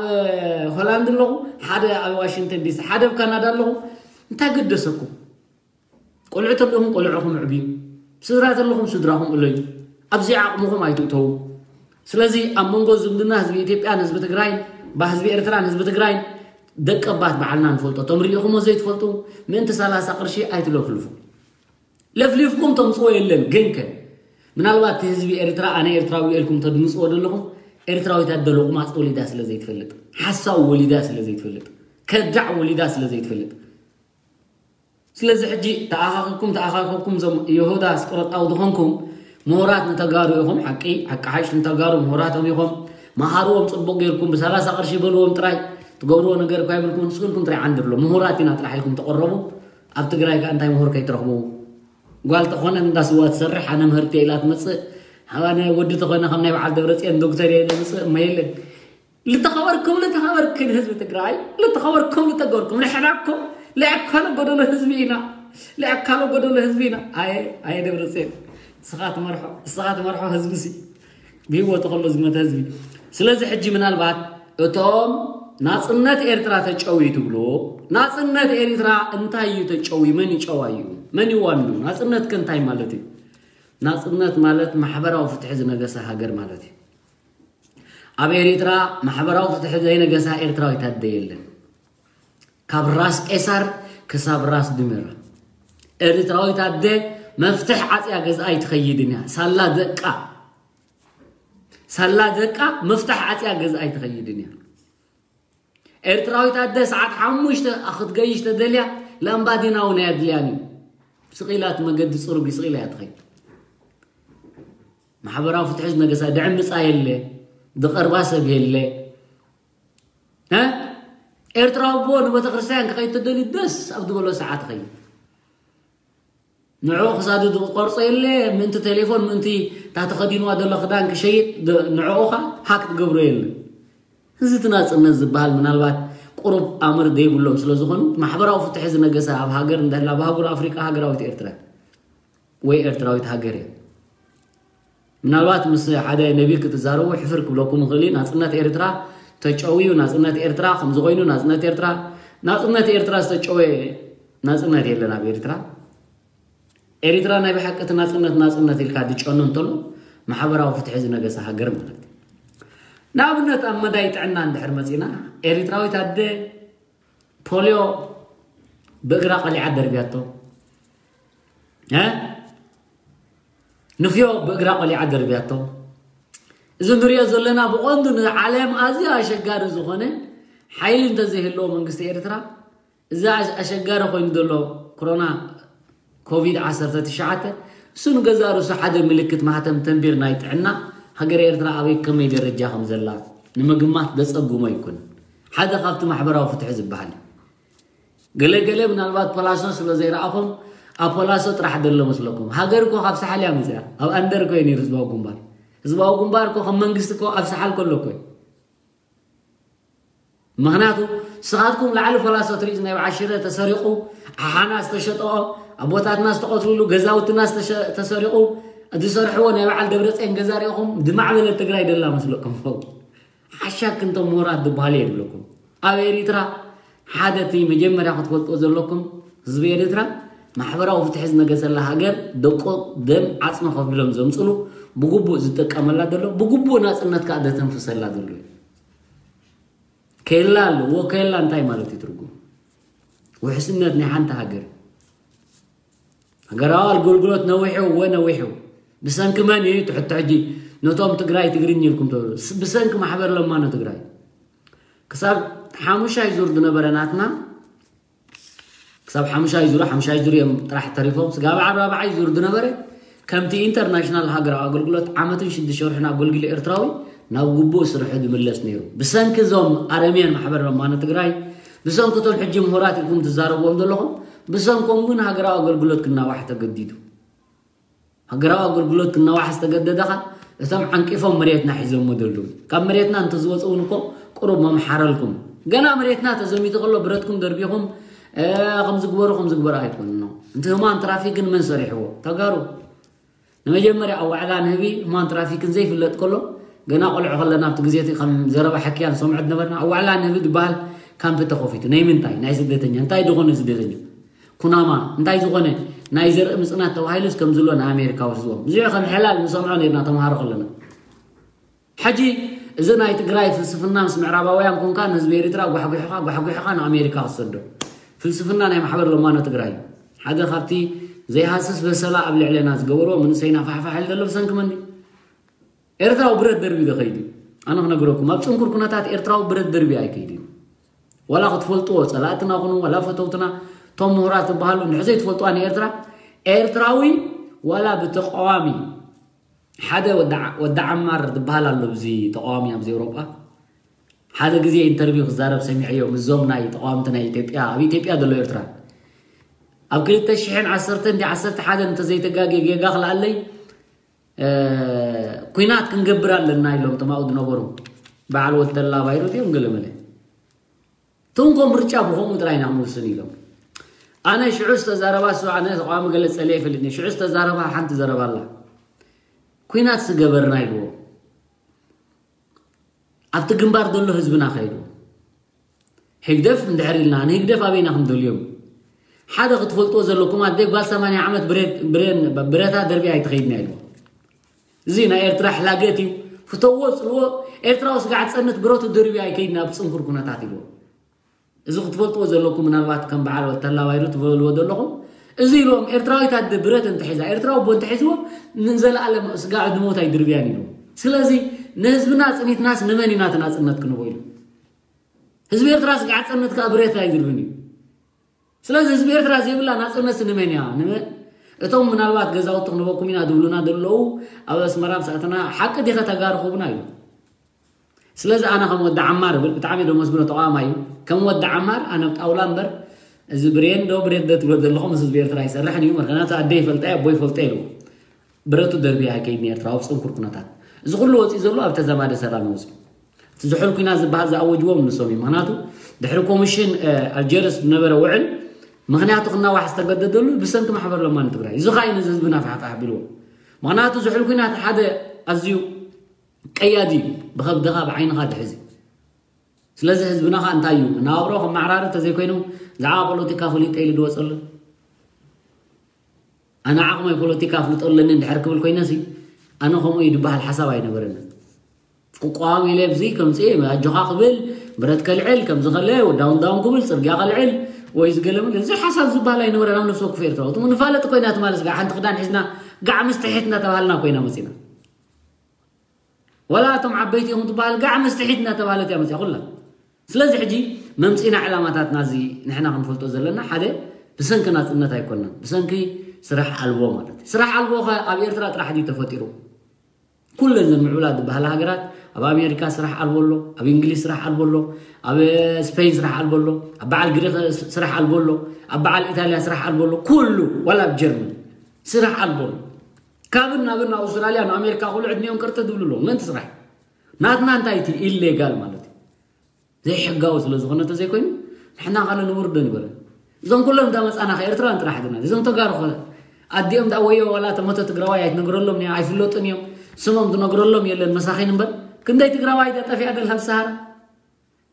ሆላንድ ኣለኹ ሓደ ኣብ ዋሽንግተን ዲሲ ሓደ ኣብ ካናዳ ኣለኹ እንታይ ገደሰኩም ቆልዑ ተለኹም ቆልዑኹም ዕብዩ ስድራ ተለኹም ስድራኹም እለዩ ኣብዚ ዓቕምኹም ኣይትእተዉ ስለዚ ኣብ መንጎ ዝምድና ህዝቢ ኢትዮጵያን ህዝቢ ትግራይን ባ ህዝቢ ኤርትራን ህዝቢ ትግራይን ደቀባት በዓልና ንፈልጦ እቶም ሪኢኹሞ ዘይትፈልጡ ምእንቲ ሰላሳ ቅርሺ ኣይትለፍልፉ ለፍሊፍኩም ተምፅዎ የለን ግን ከ ምናልባት እቲ ህዝቢ ኤርትራ ኣነ ኤርትራዊ ኢልኩም ተድምፅዎ ዘለኹም ኤርትራዊት ኣደ ሎቕማፅ ወሊዳ ስለ ዘይትፈልጥ ሓሳዊ ወሊዳ ስለ ዘይትፈልጥ ከዳዕ ወሊዳ ስለ ዘይትፈልጥ ስለዚ ሕጂ ተኣኻኺብኩም ተኣኻኺብኩም ዞም የሁዳ ኣስቆሮጣዊ ዝኾንኩም ምሁራት ንተጋሩ ኢኹም ሓቂ ሓቂ ሓሽ ንተጋሩ ምሁራቶም ኢኹም መሃርዎም ፅቡቅ ጌርኩም ብሰላሳ ቅርሺ በልዎም ጥራይ ትገብርዎ ነገር እኳ ይብልኩም ንስክልኩም ጥራይ ዓንድርሎ ምሁራት ኢና ጥራሕ ኢልኩም ተቆረቡ ኣብ ትግራይ ከዓ እንታይ ምሁር ከይትረኽቡ ጓል ተኾነ እንዳ ስዋ ትሰርሕ ኣነ ምህርቲ ኢላ ትመፅእ ኣነ ወዲ ተኾነ ከም ናይ በዓል ደብረፅዮን ዶክተር እየ ዝመፅእ እማ የለን ልተኸበርኩም ልተኸበርክን ህዝቢ ትግራይ ልተኸበርኩም ልተገበርኩም ንሕናኩም ልኣካሎ ጎደሎ ህዝቢ ኢና ልኣካሎ ጎደሎ ህዝቢ ኢና ኣየ ኣየ ደብረፅዮን እስኻ ትመርሖ እስኻ ትመርሖ ህዝቢ ሲ ብህይወቱ ከሎ ዝመተ ህዝቢ ስለዚ ሕጂ ምናልባት እቶም ናፅነት ኤርትራ ተጨውዩ ትብሉ ናፅነት ኤርትራ እንታይ እዩ ተጨውዩ መን ይጨዋዩ መን ይዋኑ ናፅነት ከ እንታይ ማለት እዩ ናፅነት ማለት ማሕበራዊ ፍትሒ ዝነገሰ ሃገር ማለት እዩ ኣብ ኤርትራ ማሕበራዊ ፍትሒ ዘይነገሳ ኤርትራዊት ኣደ የለን። ካብ ራስ ቄሳር ክሳብ ራስ ድሜራ ኤርትራዊት ኣደ መፍትሕ ዓጽያ ገዝኣ ኣይትኸይድን እያ። ሳላ ደቃ ሳላ ደቃ መፍትሕ ዓጽያ ገዝኣ ኣይትኸይድን እያ። ኤርትራዊት ኣደ ሰዓት ሓሙሽተ ክትገይሽ ተደልያ ላምባዲና እውን ኣየድልያን እዩ። ስቕ ኢላ እቲ መገዲ ጽሩግ እዩ፣ ስቕ ኢላ እያ ትኸይድ። ማሕበራዊ ፍትሒ ዝነገሳ ድዕምጻ የለ፣ ዝቐርባ ሰብ የለ። እ? ኤርትራዊ ኣቦ ንቤተ ክርስቲያን ክኸይድ ተደልዩ ደስ ኣብ ዝበሎ ሰዓት ይኸይድ። ንዕኡ ክሳዱ ዝቆርጾ የለ፣ ምእንቲ ቴሌፎን፣ ምእንቲ እታ ተኸዲንዋ ዘሎ ክዳን ክሸይጥ ድ-፣ ንዕኡ ኸ ሃክ ትገብሮ የለ። እዚ እቲ ናጽነት ዝበሃል ምናልባት ቁሩብ ኣምር ዘይብሎም ስለ ዝኾኑ፣ ማሕበራዊ ፍትሒ ዝነገሰ ኣብ ሃገር እንተላ፣ ኣብ ኣህጉር ኣፍሪቃ ሃገራዊት ኤርትራ ወይ ኤርትራዊት ሃገር እያ። ምናልባት ምስ ሓደ ነቢር ክትዛረቡ ሕፍር ክብለኩም ይኽእል እዩ። ናጽነት ኤርትራ ተጨውዩ፣ ናጽነት ኤርትራ ከምዚ ኮይኑ፣ ናጽነት ኤርትራ፣ ናጽነት ኤርትራ ዝተጨወየ ናጽነት የለን ኣብ ኤርትራ። ኤርትራ ናይ ብሓቂ እቲ ናጽነት ናጽነት ኢልካ ዝጨኑ እንተሎ፣ ማሕበራዊ ፍትሒ ዝነገሰ ሃገር ማለት እዩ። ንኣብነት ኣብ መዳይ ጥዕና እንድሕር መጺና፣ ኤርትራዊት ኣደ ፖልዮ ብእግራ ቀሊዓ ደርብያቶ። እ? ንፍዮ ብእግራ ቀሊዓ ደርብያቶ። እዚ ንሪኦ ዘለና ብቐንዱ ንዓለም ኣዝዩ ኣሸጋሪ ዝኾነ ሓይሊ እንተዘይህልዎ መንግስቲ ኤርትራ፣ እዚ ኣሸ-፣ ኣሸጋሪ ኮይኑ ዘሎ ኮሮና ኮቪድ ዓሰርተ ትሽዓተ፣ እሱ ንገዛእ ርእሱ ሓደ ምልክት ማህተም ተንቢር ናይ ጥዕና ሃገር ኤርትራ ኣበይ ከመይ ደረጃ ከም ዘላ ንምግማት ዘጸግሞ ኣይኮነን። ሓደ ካብቲ ማሕበራዊ ፍትሒ ዝበሃል እዩ። ገለ ገለ ምናልባት ፖላሶ ስለ ዘይረኣኹም ኣብ ፖላሶ ጥራሕ ዘሎ መስለኩም? ሃገር እኮ ካብ ሳሓል እያ መፅያ። ኣብ ኣንደር እኮ እዩ ነይሩ ህዝባዊ ግንባር። ህዝባዊ ግንባር እኮ ከም መንግስቲ እኮ ኣብ ሳሓል ከሎ እኮ እዩ። ምኽንያቱ ንስኻትኩም ላዕሊ ፖላሶ ትሪዝ ናይ በዓል ሽረ ተሰሪቑ፣ ሓሓና ዝተሸጠኦ፣ ኣቦታትና ዝተቐትሉሉ፣ ገዛውትና ዝተሸ- ተሰሪቑ፣ ዝሰርሕዎ ናይ በዓል ደብረፅዮን ገዛ ሪኢኹም ድማዕበለት ትግራይ ደላ መስለኩም ኸው ሓሻ ክንቶም ምሁራት ዝበሃሉ የድለኩም። ኣብ ኤሪትራ ሓደ እቲ መጀመርያ ክትፈልጥዎ ዘለኩም ህዝቢ ኤሪትራ ማሕበራዊ ፍትሒ ዝነገሰላ ሃገር ደቆ ደም ዓፅሚ ከፊሎም ዘምፅሉ ብግቡእ ዝጥቀመላ ዘሎ ብግቡእ ናፅነት ከዓ ዘተንፍሰላ ዘሎ እዩ። ከላ ኣለዎ። ከላ እንታይ ማለት እዩ ትርጉም? ውሕስነት ናይ ሓንቲ ሃገር። ሃገራዊ ኣገልግሎት ነዊሑ እወ ነዊሑ። ብሰንኪ መን እዩ ትሕቶ ሕጂ ነቶም ትግራይ ትግርኝ ኢልኩም ትብሉ? ስ- ብሰንኪ ማሕበር ለማኖ ትግራይ ክሳብ ሓሙሻይ ዙር ዝነበረ ናትና ክሳብ ሓሙሻይ ዙር ሓሙሻይ ዙር እዮም ጥራሕ ተሪፎም ስጋብ ዓራብዓይ ዙር ዝነበረ ከምቲ ኢንተርናሽናል ሃገራዊ ኣገልግሎት ዓመትን ሽዱሽተ ወርሕን ኣገልግሎ ኤርትራዊ ናብ ግቡእ ስርሑ ዝምለስ ነይሩ። ብሰንኪ እዞም ኣረምያን ማሕበር ለማኖ ትግራይ፣ ብሰንኪ እቶም ሕጂ ምሁራት ኢልኩም ትዛረብዎም ዘለኹም፣ ብሰንኮም ግን ሃገራዊ ኣገልግሎት ክናዋሕ ተገዲዱ። ሃገራዊ ኣገልግሎት ክናዋሕ ዝተገደደኻ እቶም ዓንቂፎም መሬትና ሒዞሞ ዘለዉ። ካብ መሬትና እንተዝወፁ እውን እኮ ቁሩብ መምሓረልኩም። ገና መሬትና ተዘሚቱ ከሎ ብረትኩም ደርቢኹም ከምዝግበሩ ከምዝግበሩ ኣይኮንኖ። እንተ ህማን ትራፊክን መን ሰሪሕዎ? ተጋሩ። ንመጀመርያ ኣብ ዋዕላ ንህቢ ህማን ትራፊክን ዘይፍለጥ ከሎ ገና ቆልዑ ከለና ኣብቲ ግዜ እቲ ከም ዘረባ ሓኪያ ንሰምዖ ዝነበርና ኣብ ዋዕላ ንህቢ ዝበሃል ካምፕ ተኸፊቱ ናይ ምንታይ ናይ ስደተኛ እንታይ ዝኾነ ስደተኛ ኩናማ እንታይ ዝኾነ ናይ ዘርኢ ምፅናት ተባሂሉስ ከም ዝሎ ንኣሜሪካ ወስድዎም ብዙሕ ከም ሕላል ንሰምዖ ነርና ተምሃሮ ከለና። ሕጂ እዚ ናይ ትግራይ ፍልስፍና ምስ ምዕራባውያን ኮንካ ንህዝቢ ኤርትራ ጓሕጒሕኻ ጓሕጒሕኻ ንኣሜሪካ ክትሰዶ ፍልስፍና ናይ ማሕበር ለማኖ ትግራይ ሓደ ካብቲ ዘይሃስስ በሰላ ኣብ ልዕለና ዝገበርዎ መንእሰይና ፋሕፋሕ ኢሉ ዘሎ ብሰንኪ መን ድዩ? ኤርትራዊ ብረት ደርቢ ዶ ከይዱ? ኣነ ክነግረኩም ኣብ ፅንኩር ኩነታት ኤርትራዊ ብረት ደርቢ ኣይከይድን። ዋላ ክትፈልጥዎ ፀላእትና ኩኑ ዋላ ፈተውትና እቶም ምሁራት ዝበሃሉ እንድሕር ዘይትፈልጥዋ ንኤርትራ ኤርትራዊ ዋላ ብተቃዋሚ ሓደ ወዲ ዓማር ዝበሃል ኣሎ ብዚ ተቃዋሚ ኣብዚ ኤውሮጳ ሓደ ግዜ ኢንተርቪው ክዛረብ ሰሚዐዮ ምስዞም ናይ ተቃዋምቲ ናይ ኢትዮጵያ ኣብ ኢትዮጵያ ዘሎ ኤርትራ ኣብ ክልተ ሽሕን ዓሰርተ እንዲ ዓሰርተ ሓደ እንተዘይተጋግየ ጌጋ ክልኣለይ ኩናት ክንገብር ኣለና ኢሎም ተማኡ ዝነበሩ በዓል ወተላ ባይሩት እዮም ገለመለ ትንኮ ምርጫ ብኸምኡ ጥራይ ኢና ክንውስን ኢሎም ኣነ ሽዑ ዝተዛረባ እሱ ኣነ ተቃዋሚ ገለ ጸለ ይፈልጥኒ ሽዑ ዝተዛረባ ሓንቲ ዘረባ ኣላ ኩናት ዝገበርና ኢልዎ ኣብቲ ግንባር ዘሎ ህዝብና ከይዱ ህግደፍ እንድሕር ኢልና ንህግደፍ ኣበይና ክንደልዮም ሓደ ክትፈልጥዎ ዘለኩም ኣደይ ጓል ሰማንያ ዓመት ብሬን ብሬን ብረታ ደርቢ ኣይትኸይድና ኢልዎ እዚ ናይ ኤርትራ ሕላገት እዩ ፍተዎ ጽልዎ ኤርትራዊ ስጋዕ ጸነት ብረቱ ደርቢ ኣይከይድና ኣብ ጽንኩር ኩነታት ኢልዎ እዚ ክትፈልጥዎ ዘለኩም ምናልባት ከም በዓል ወተላባይሩ ትበልዎ ዘለኹም እዚ ኢልዎም ኤርትራዊት ኣደ ብረት እንተሒዛ ኤርትራዊ ቦ እንተሒዝዎ ንዘለኣለም ስጋዕ ድሞት ኣይድርብያን ኢልዎም ስለዚ ንህዝብና ጽኒትናስ ንመን ኢና እቲ ናጽነት ክንቦ ኢሉ ህዝቢ ኤርትራ ስጋዕ ጸነት ከዓ ብረት ኣይድርብን እዩ ስለዚ ህዝቢ ኤርትራ ዘይብላ ናጽነት ንመን እያ ንመን እቶም ምናልባት ገዛውቲ ክንበኩም ኢና ዝብሉና ዘለዉ ኣብ ኣስመራ ምስ ኣተና ሓቂ ዲኸ ተጋሩ ክቡና ኢሉ ስለዚ ኣነ ከም ወዲ ዓማር ብል ብጣዕሚ ዶ መስግኖ ተቃዋማይ እዩ ከም ወዲ ዓማር ኣነ ጣውላ እምበር እዚ ብሬን ዶ ብሬን ዶ ትብሎ ዘለኹም ምስ ህዝቢ ኤርትራ ይሰርሕን እዩ ምክንያቱ ኣደ ይፈልጣ ኣቦ ይፈልጦ ኢሉ ብረቱ ደርቢ ኣይከይድን ኤርትራ ኣብ ፅንኩር ኩነታት እዚ ኩሉ ወፂኡ ዘሎ ኣብ ተዘማደ ሰላም ይወፅኡ እቲ ዝሑል ኩናት ዝበሃል ዝኣወጅዎም ንሶም እዩ ምክንያቱ ድሕሪ ኮሚሽን ኣልጀርስ ዝነበረ ውዕል ምክንያቱ ክናዋሕ ዝተገደደሉ ብሰንኪ ማሕበር ለማኒ ትግራይ እዚ ኻይ ነዚ ህዝብና ፋሕፋሕ ቢልዎ ምክንያቱ ዝሑል ኩናት ሓደ ኣዝዩ ቀያዲ እዩ ብኸብድኻ ብዓይንኻ ትሕዚ ስለዚ ህዝብና ኸ እንታይ እዩ መናባብሮ ከመዓራሪ ተዘይኮይኑ ዛዕባ ፖለቲካ ፈሊጠ ኢሉ ድወፀሉ ኣነ ዓቕመይ ፖለቲካ ኣፍልጦ ኣለኒ እንድሕር ክብል ኮይነሲ ኣነ ከምኡ እዩ ዝበሃል ሓሳብ ኣይነበረንን ክቋወም ኢለ ብዚ ከምፅእ ኣጆኻ ክብል ብረት ከልዕል ከምዚ ከለ ዳውን ዳውን ክብል ፅርግያ ከልዕል ወይ ዝገለምን እዚ ሓሳብ ዝበሃል ኣይነበረን ኣብ ነፍሲ ወከፍ ኤርትራዊ እቲ ንፋለጥ ኮይና ትማለስ ጋር ሓንቲ ክዳን ሒዝና ጋዕ ምስ ትሒት እናተባሃልና ኮይና መፂና ወላ እቶም ዓበይቲ እዮም ትበሃል ጋዕ ምስ ትሒት እናተባሃለት እያ መፅያ ኩላ ስለዚ ሕጂ መምፂና ዕላማታትና እዚ ንሕና ክንፈልጦ ዘለና ሓደ ብሰንኪ ናፅነት ኣይኮነን ብሰንኪ ስራሕ ኣልቦ ማለት እዩ ስራሕ ኣልቦ ከ ኣብ ኤርትራ ጥራሕ ድዩ ተፈጢሩ ኩለን ዘን ምዕቡላት ዝበሃላ ሃገራት ኣብ ኣሜሪካ ስራሕ ኣልቦ ኣሎ፣ ኣብ እንግሊዝ ስራሕ ኣልቦ ኣሎ፣ ኣብ ስፔን ስራሕ ኣልቦ ኣሎ፣ ኣብ በዓል ግሪክ ስራሕ ኣልቦ ኣሎ፣ ኣብ በዓል ኢጣልያ ስራሕ ኣልቦ ኣሎ። ኩሉ ዋላ ኣብ ጀርመን ስራሕ ኣልቦ ኣሎ። ካብን ናብን ኣውስትራልያ ንኣሜሪካ ኩሉ ዕድሜኦም ቅርጥጥ ዝብሉ ኣለዉ። ምእንቲ ስራሕ ናትና እንታይ እቲ ኢሌጋል ማለት እዩ? ዘይሕጋዊ ስለ ዝኾነ እንተዘይኮይኑ ንሕና ካነ ንውርዶ ንበለ። እዞም ኩሎም እንዳመፃና ከ ኤርትራውያን ጥራሕ ድና እዞም ተጋሩ ኸ ኣዲኦም ዳ ወዮ ዋላ ተመቶ ትግራዋይ ኣይትነግረሎም እያ፣ ኣይፍለጡን እዮም። ስሞም ትነግረሎም የለን መሳኺን እምበር ክንደይ ትግራዋይ ዳ ጠፊኣ ደላ ኣብ ሰሃራ።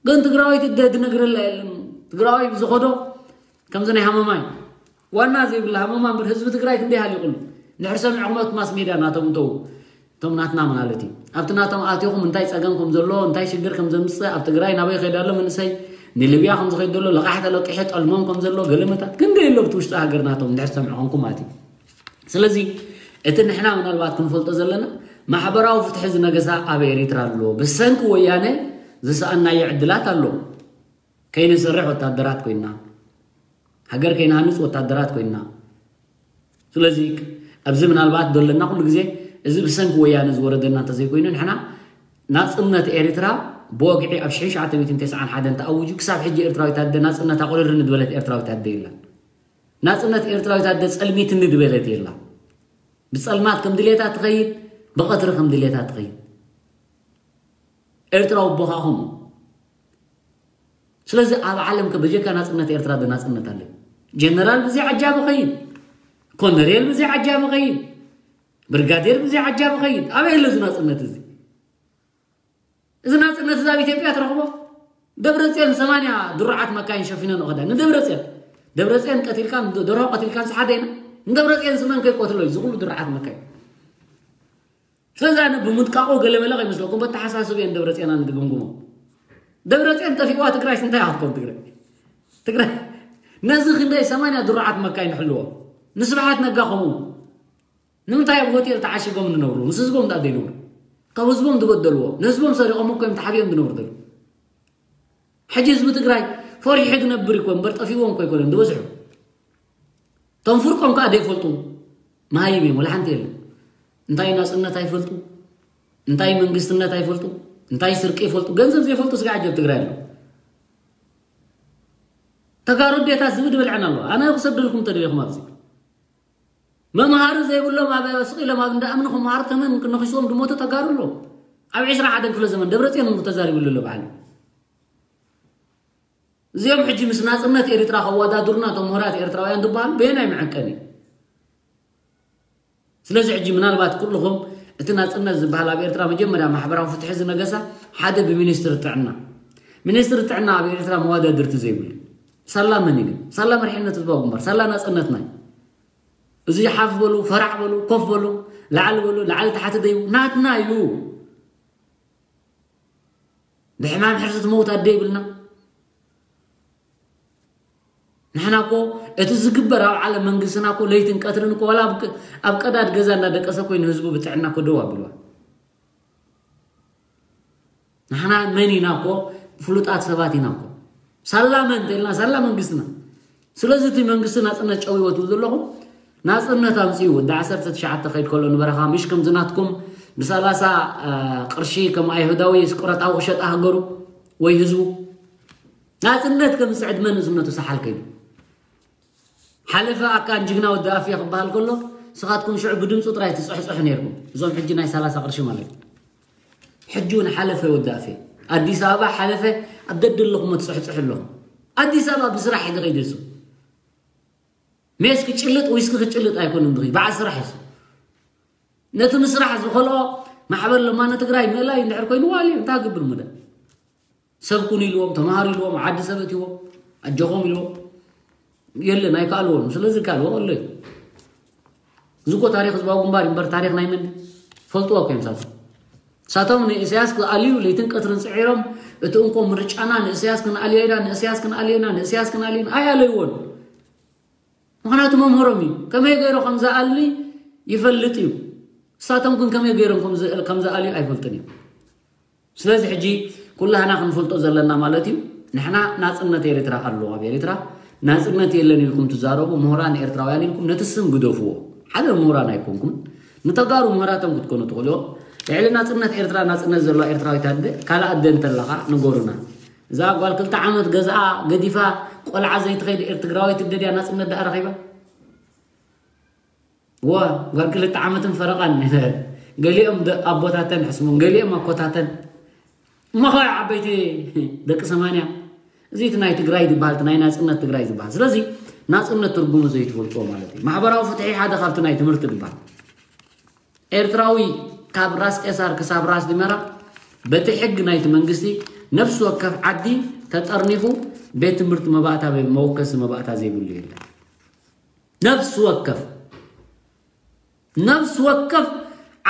ግን ትግራዋይ ትደ ድነግረላ የለን። ትግራዋይ ብዝኸዶ ከምዚ ናይ ሃመማይ ዋና ዘይብላ ሃመማ እምበር ህዝቢ ትግራይ ክንደይ ሃሊቑሉ። ንሕር ሰሚዕኹም ኣብቲ ማስ ሜድያ ናቶም እንተው እቶም ናትና ማለት እዩ። ኣብቲ ናቶም ኣትኹም እንታይ ፀገም ከም ዘሎ እንታይ ሽግር ከም ዘምፅእ ኣብ ትግራይ ናበይ ከይዳ ኣሎ መንእሰይ ንሊብያ ከም ዝኸይድ ዘሎ ለቓሕ ተለቂሐ ጠልሞም ከም ዘሎ ገለመታት ክንደይ ኣሎ ኣብቲ ውሽጢ ሃገር ናቶም ንድሕር ሰሚዕኹምኩም ማለት እዩ። ስለዚ እቲ ንሕና ምናልባት ክንፈልጦ ዘለና ማሕበራዊ ፍትሒ ዝነገሳ ኣብ ኤሪትራ ኣሎ። ብሰንኪ ወያነ ዝሰኣናዮ ዕድላት ኣሎ። ከይንሰርሕ ወታደራት ኮይና፣ ሃገር ከይንሃንፅ ወታደራት ኮይና። ስለዚ ኣብዚ ምናልባት ደለና ኩሉ ግዜ እዚ ብሰንኪ ወያነ ዝወረደና እንተዘይኮይኑ ንሕና ናፅነት ኤርትራ ብወግዒ ኣብ ሽሕን ትሽዓተ ሚእትን ተስዓን ሓደን ተኣውጁ ክሳብ ሕጂ ኤርትራዊት ኣደ ናፅነታ ቁርር ንድበለት ኤርትራዊት ኣደ የላን። ናፅነት ኤርትራዊት ኣደ ፀልሚት ንድበለት የላ። ብፀልማት ከም ድሌታ ትኸይድ፣ ብቐትሪ ከም ድሌታ ትኸይድ። ኤርትራዊ ኣቦኻ ከምኡ። ስለዚ ኣብ ዓለም ከ በጀካ ናፅነት ኤርትራ ዶ ናፅነት ኣለ? ጀነራል ብዘይ ዓጃቢ ኸይድ፣ ኮነሬል ብዘይ ዓጃቢ ኸይድ፣ ብርጋዴር ብዘይ ዓጃቢ ኸይድ። ኣበይ ኣሎ እዚ ናፅነት እዚ? እዚ ናፅነት እዚ ኣብ ኢትዮጵያ ትረኽቦ? ደብረፅዮን ሰማንያ ድሩዓት መካይን ሸፊነን ኸዳ ንደብረፅዮን ደብረፅዮን ቀቲልካን ደርሆ ቀቲልካን ሰሓደ ኢና ንደብረፅዮን ስመን ከይቆትሎ እዩ ዝኩሉ ድሩዓት መካይን። ስለዚ ኣነ ብምጥቃቑ ገለመለ ከይመስለኩም በተሓሳስብ እየን ደብረፅዮን ኣነ ዝግምግሞ። ደብረፅዮን ጠፊእዋ ትግራይ ስንታይ ኣትኮን ትግራይ ትግራይ ነዚ ክንደይ ሰማንያ ድሩዓት መካይን ሕልዎ ንስብሓት ነጋ ከምኡ ንምንታይ ኣብ ሆቴል ተዓሺጎም ዝነብሩ ምስ ህዝቦም ዳ ዘይነብሩ ካብ ህዝቦም ዝበደልዎ ንህዝቦም ሰሪቆም እኮ እዮም ተሓቢኦም ዝነብሩ ዘለዉ። ሕጂ ህዝቢ ትግራይ ፈሪሑ ዝነብር ይኮን እምበር ጠፊዎም እኮ ኣይኮነን ዝበዝሑ። እቶም ፍርቆም ከዓ ዘይፈልጡ መሃይም እዮም ወላ ሓንቲ የለን። እንታይ ናፅነት ኣይፈልጡ እንታይ መንግስትነት ኣይፈልጡ እንታይ ስርቂ ይፈልጡ ገንዘብ ዘይፈልጡ ስጋ ዓጀብ ትግራይ ኣሎ። ተጋሩ ኣዴታት ዝብድ በልዐን ኣለዋ ኣነ ክሰደልኩም ተደሊኹም ኣብዚ መምሃሪ ዘይብሎም ኣብ ስቕ ኢሎም ኣብ እንዳ እምኒ ክመሃሩ ተመን ክነኺስዎም ዝሞቱ ተጋሩ ኣለዉ። ኣብ ዕስራ ሓደን ክፍለ ዘመን ደብረፅዮን እውን ተዛሪብሉ ኣሎ በዓል። እዚኦም ሕጂ ምስ ናፅነት ኤርትራ ከወዳድሩና እቶም ምሁራት ኤርትራውያን ዝበሃሉ በየናይ መዐቀኒ? ስለዚ ሕጂ ምናልባት ኩልኹም እቲ ናፅነት ዝበሃል ኣብ ኤርትራ መጀመርያ ማሕበራዊ ፍትሒ ዝነገሳ ሓደ ብሚኒስትሪ ጥዕና ሚኒስትሪ ጥዕና ኣብ ኤርትራ መወዳድርቲ ዘይብሉ ሳላ መን እዩ ግን ሳላ መርሒነት ህዝባዊ ግንባር ሳላ ናፅነትና እዩ። እዚ ሓፍ በሉ ፈራዕ በሉ ኮፍ በሉ ላዕሊ በሉ ላዕሊ ታሕቲ ደይቡ ናትና እዩ። ብሕማም ሕርሲ ትመውት ኣደ ይብልና። ንሕና እኮ እቲ ዝግበር ኣብ ዓለም መንግስትና እኮ ለይትን ቀትርን እኮ ዋላ ኣብ ቀዳድ ገዛ እንዳደቀሰ እኮ ንህዝቡ ብጥዕና እኮ ደው ኣቢልዋ። ንሕና መን ኢና እኮ ፍሉጣት ሰባት ኢና እኮ ሳላ መን እንተኢልና ሳላ መንግስትና። ስለዚ እቲ መንግስቲ ናፅነት ጨዊዎ ትብል ዘለኹም ናፅነት ኣምፅኡ ወዲ ዓሰርተ ትሽዓተ ከይድ ከሎ ንበረኻ ምሽ ከምዚ ናትኩም ብሰላሳ ቅርሺ ከም ኣይሁዳዊ ስቁረታዊ ክሸጣ ሃገሩ ወይ ህዝቡ ናፅነት ከምፅዕ ዕድመ ንእስነቱ ሰሓል ከይዱ ሓለፈ ኣካን ጅግና ወዲ ኣፍየ ክበሃል ከሎ ንስኻትኩም ሽዑ ብድምፁ ጥራይ ትፅሕፅሑ ነይርኩም እዞም ሕጂ ናይ ሰላሳ ቅርሺ ማለት እዩ። ሕጂ እውን ሓለፈ ወዲ ኣፍየ ኣዲስ ኣበባ ሓለፈ ኣብ ደደለኹም ትፅሕፅሑ ኣለኹም ኣዲስ ኣበባ ብስራሕ እዩ ዝኸይድ እሱ ሜስ ክጭልጥ ዊስኪ ክጭልጥ ኣይኮንን ዝኸይድ በዓል ስራሕ እሱ ነቲ ምስራሕ ዝኸልኦ ማሕበር ለማኒ ትግራይ ምእላይ እንድሕር ኮይኑ ዋልዩ እንታይ ክገብር ምደ ሰብ ኩኑ ኢልዎም ተምሃሩ ኢልዎም ዓዲ ሰብ እትዎም ኣጆኹም ኢልዎም የለን ኣይከኣልዎም ስለዚ ካልዎ ኣሎ እዩ እዚ እኮ ታሪክ ህዝባዊ ግንባር እምበር ታሪክ ናይ መን ፈልጥዎ እኮ እዮም ሳቶም ሳቶም ንእስያስ ክኣልዩ ለይትን ቀትርን ፅዒሮም እቲ እንኮ ምርጫና ንእስያስ ክንኣልዮ ኢና ንእስያስ ክንኣልዮ ኢና ንእስያስ ክንኣልዮ ኢና ኣይኣለይዎን ምኽንያቱ መምህሮም እዩ ከመይ ገይሩ ከም ዝኣሊ ይፈልጥ እዩ እሳቶም ግን ከመይ ገይሮም ከም ዝኣልዩ ኣይፈልጥን እዩ ስለዚ ሕጂ ኩላህና ክንፈልጦ ዘለና ማለት እዩ ንሕና ናፅነት ኤርትራ ኣሎ ኣብ ኤርትራ ናፅነት የለን ኢልኩም ትዛረቡ ምሁራን ኤርትራውያን ኢልኩም ነቲ ስም ግደፍዎ ሓደ ምሁራን ኣይኮንኩም ንተጋሩ ምሁራቶም ክትኮኑ ትኽእልዎ ልዕሊ ናፅነት ኤርትራ ናፅነት ዘለዋ ኤርትራዊት ኣደ ካልእ ኣደ እንተለኻ ንገሩና። እዛ ጓል ክልተ ዓመት ገዝኣ ገዲፋ ቆልዓ ዘይትኸይድ ኤርትግራዊት ኣደ ድያ ናፅነት ደኣ ረኺባ? ዋ፣ ጓል ክልተ ዓመትን ፈረቓን። ገሊኦም ደ-፣ ኣቦታተን ሕስሞም፣ ገሊኦም ኣኮታተን። እሞ ኸ ዓበይቲ ደቂ ሰማንያ፣ እዚ እቲ ናይ ትግራይ ዝበሃል፣ እቲ ናይ ናፅነት ትግራይ ዝበሃል። ስለዚ ናፅነት ትርጉሙ ዘይትፈልጥዎ ማለት እዩ። ማሕበራዊ ፍትሒ ሓደ ካብቲ ናይ ትምህርቲ ዝበሃል። ኤርትራዊ ካብ ራስ ቄሳር ክሳብ ራስ ዲመራ በቲ ሕጊ ናይቲ መንግስቲ ነፍሲ ወከፍ ዓዲ ተጠርኒፉ ቤት ትምህርቲ መባእታ፣ መወከሲ መባእታ ዘይብሉ የለን። ነፍሲ ወከፍ፣ ነፍሲ ወከፍ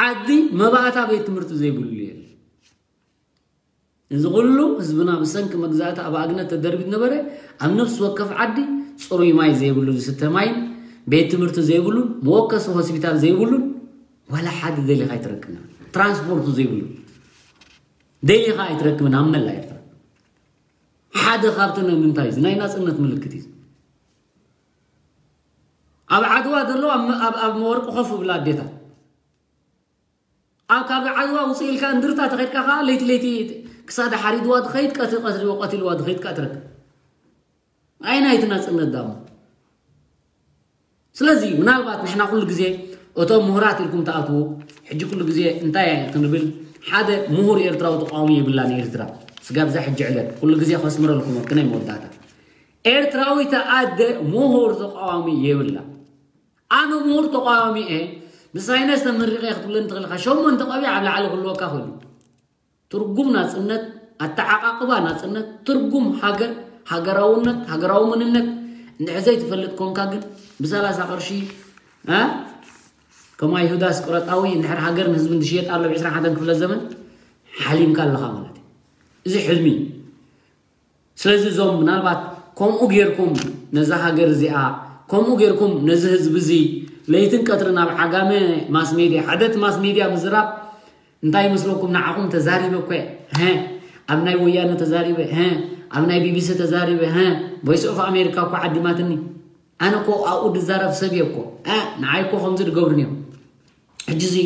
ዓዲ መባእታ ቤት ትምህርቲ ዘይብሉ የለን። እዚ ኩሉ ህዝብና ብሰንኪ መግዛእቲ ኣብ ኣግነት ተደርቢት ነበረ። ኣብ ነፍሲ ወከፍ ዓዲ ጽሩይ ማይ ዘይብሉ፣ ዝስተ ማይን ቤት ትምህርቲ ዘይብሉን፣ መወከሲ ሆስፒታል ዘይብሉን፣ ዋላ ሓደ ደሊኻ ኣይትረክብን። ትራንስፖርቱ ዘይብሉ ደሊኻ ኣይትረክብን ኣብ መላእ ኤርትራ። ሓደ ካብቲ ናይ ምንታይ እዩ? ናይ ናጽነት ምልክት እዩ። ኣብ ዓድዋ ዘሎ ኣብ፣ ኣብ፣ ኣብ መወርቂ ኮፍ ብላ ኣዴታት። ኣብ ካብ ዓድዋ ውፅእ ኢልካ እንድርታ ተኸድካ ከዓ ለይቲ ለይቲ ክሳዳ ሓሪድዋ ትኸይድ፣ ቀትሪ ቀትሪ ቀትልዋ ትኸይድ ከዓ ትረክብ። ኣይ ናይቲ ናፅነት ዳሞ። ስለዚ ምናልባት ንሕና ኩሉ ግዜ እቶም ምሁራት ኢልኩም ትኣትዉ፣ ሕጂ ኩሉ ግዜ እንታይ ክንብል፣ ሓደ ምሁር ኤርትራዊ ተቃዋሚ የብላን ኤርትራ። ስጋብ እዛ ሕጂ ዕለት ኩሉ ግዜ ከስምረልኩም ወቅነይ መወዳእታ። ኤርትራዊት ኣደ ምሁር ተቃዋሚ የብላ። ኣነ ምሁር ተቃዋሚ እየ፣ ብሳይነስ ተመሪቐ ክትብለኒ ትኽእል ኢኻ። ሸሞንተ ቆቢዕ ኣብ ላዕሊ ክህልወካ ክእል እዩ። ትርጉም ናጽነት፣ ኣተዓቃቅባ ናጽነት፣ ትርጉም ሃገር፣ ሃገራውነት፣ ሃገራዊ መንነት እንድሕር ዘይትፈልጥ ኮንካ ግን ብሰላሳ ቅርሺ፣ እ? ከም ኣይሁዳስ ቅረጣዊ እንድሕር ሃገርን ህዝብን ዝሽየጥ ኣሎ ኣብ ዕስራን ሓደን ክፍለ ዘመን ሓሊምካ ኣለኻ ማለት እዩ። እዚ ሕልሚ እዩ። ስለዚ እዞም ምናልባት ከምኡ ጌርኩም ነዛ ሃገር እዚኣ፣ ከምኡ ጌርኩም ነዚ ህዝቢ እዚ ለይትን ቀትርን ኣብ ዓጋመ ማስ ሜድያ፣ ሓደ እቲ ማስ ሜድያ ምዝራብ እንታይ ይመስለኩም? ንዓኹም ተዛሪበ እኮ እየ፣ ሀ፣ ኣብ ናይ ወያነ ተዛሪበ፣ ሀ፣ ኣብ ናይ ቢቢሲ ተዛሪበ፣ ሀ፣ ቮይስ ኦፍ ኣሜሪካ እኮ ዓዲማትኒ። ኣነ እኮ ኣብኡ ዝዛረብ ሰብ እየ እኮ። እ፣ ንዓይ እኮ ከምዚ ዝገብሩኒ እዮም። ሕጂ እዚ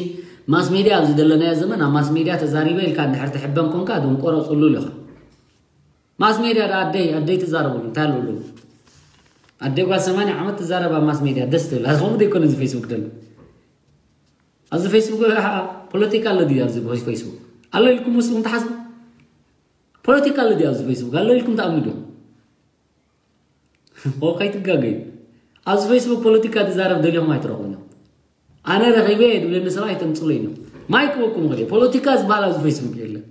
ማስ ሜድያ ኣብዚ ዘለናዮ ዘመን ኣብ ማስ ሜድያ ተዛሪበ ኢልካ እንድሕር ትሕበን ኮንካ ደንቆሮ ጽሉል ኢኻ። ማስ ሜድያ ዳ ኣደይ፣ ኣደይ ትዛረበሉ እንታይ ኣለሉ? ኣደይ ጓል ሰማንያ ዓመት ትዛረብ ኣብ ማስ ሜድያ ደስ ትብል። ኣዚ ከምኡ ዘይኮነ እዚ ፌስቡክ ደሎ። ኣብዚ ፌስቡክ ፖለቲካ ኣሎ ድዩ? ኣብዚ ፌስቡክ ኣሎ ኢልኩም መስሉም ትሓስቡ? ፖለቲካ ኣሎ ድዩ ኣብዚ ፌስቡክ? ኣሎ ኢልኩም ትኣምኑ ዶ? ኦ፣ ከይትጋገዩ። ኣብዚ ፌስቡክ ፖለቲካ ትዛረብ ደሊኹም ኣይትረኽቡን እዮም። ኣነ ረኺበ እየ ድብለኒ ሰብ ኣይተምፅለይ ነው። ማይክ ክበኩም ኸደ ፖለቲካ ዝበሃል ኣብዚ ፌስቡክ የለን።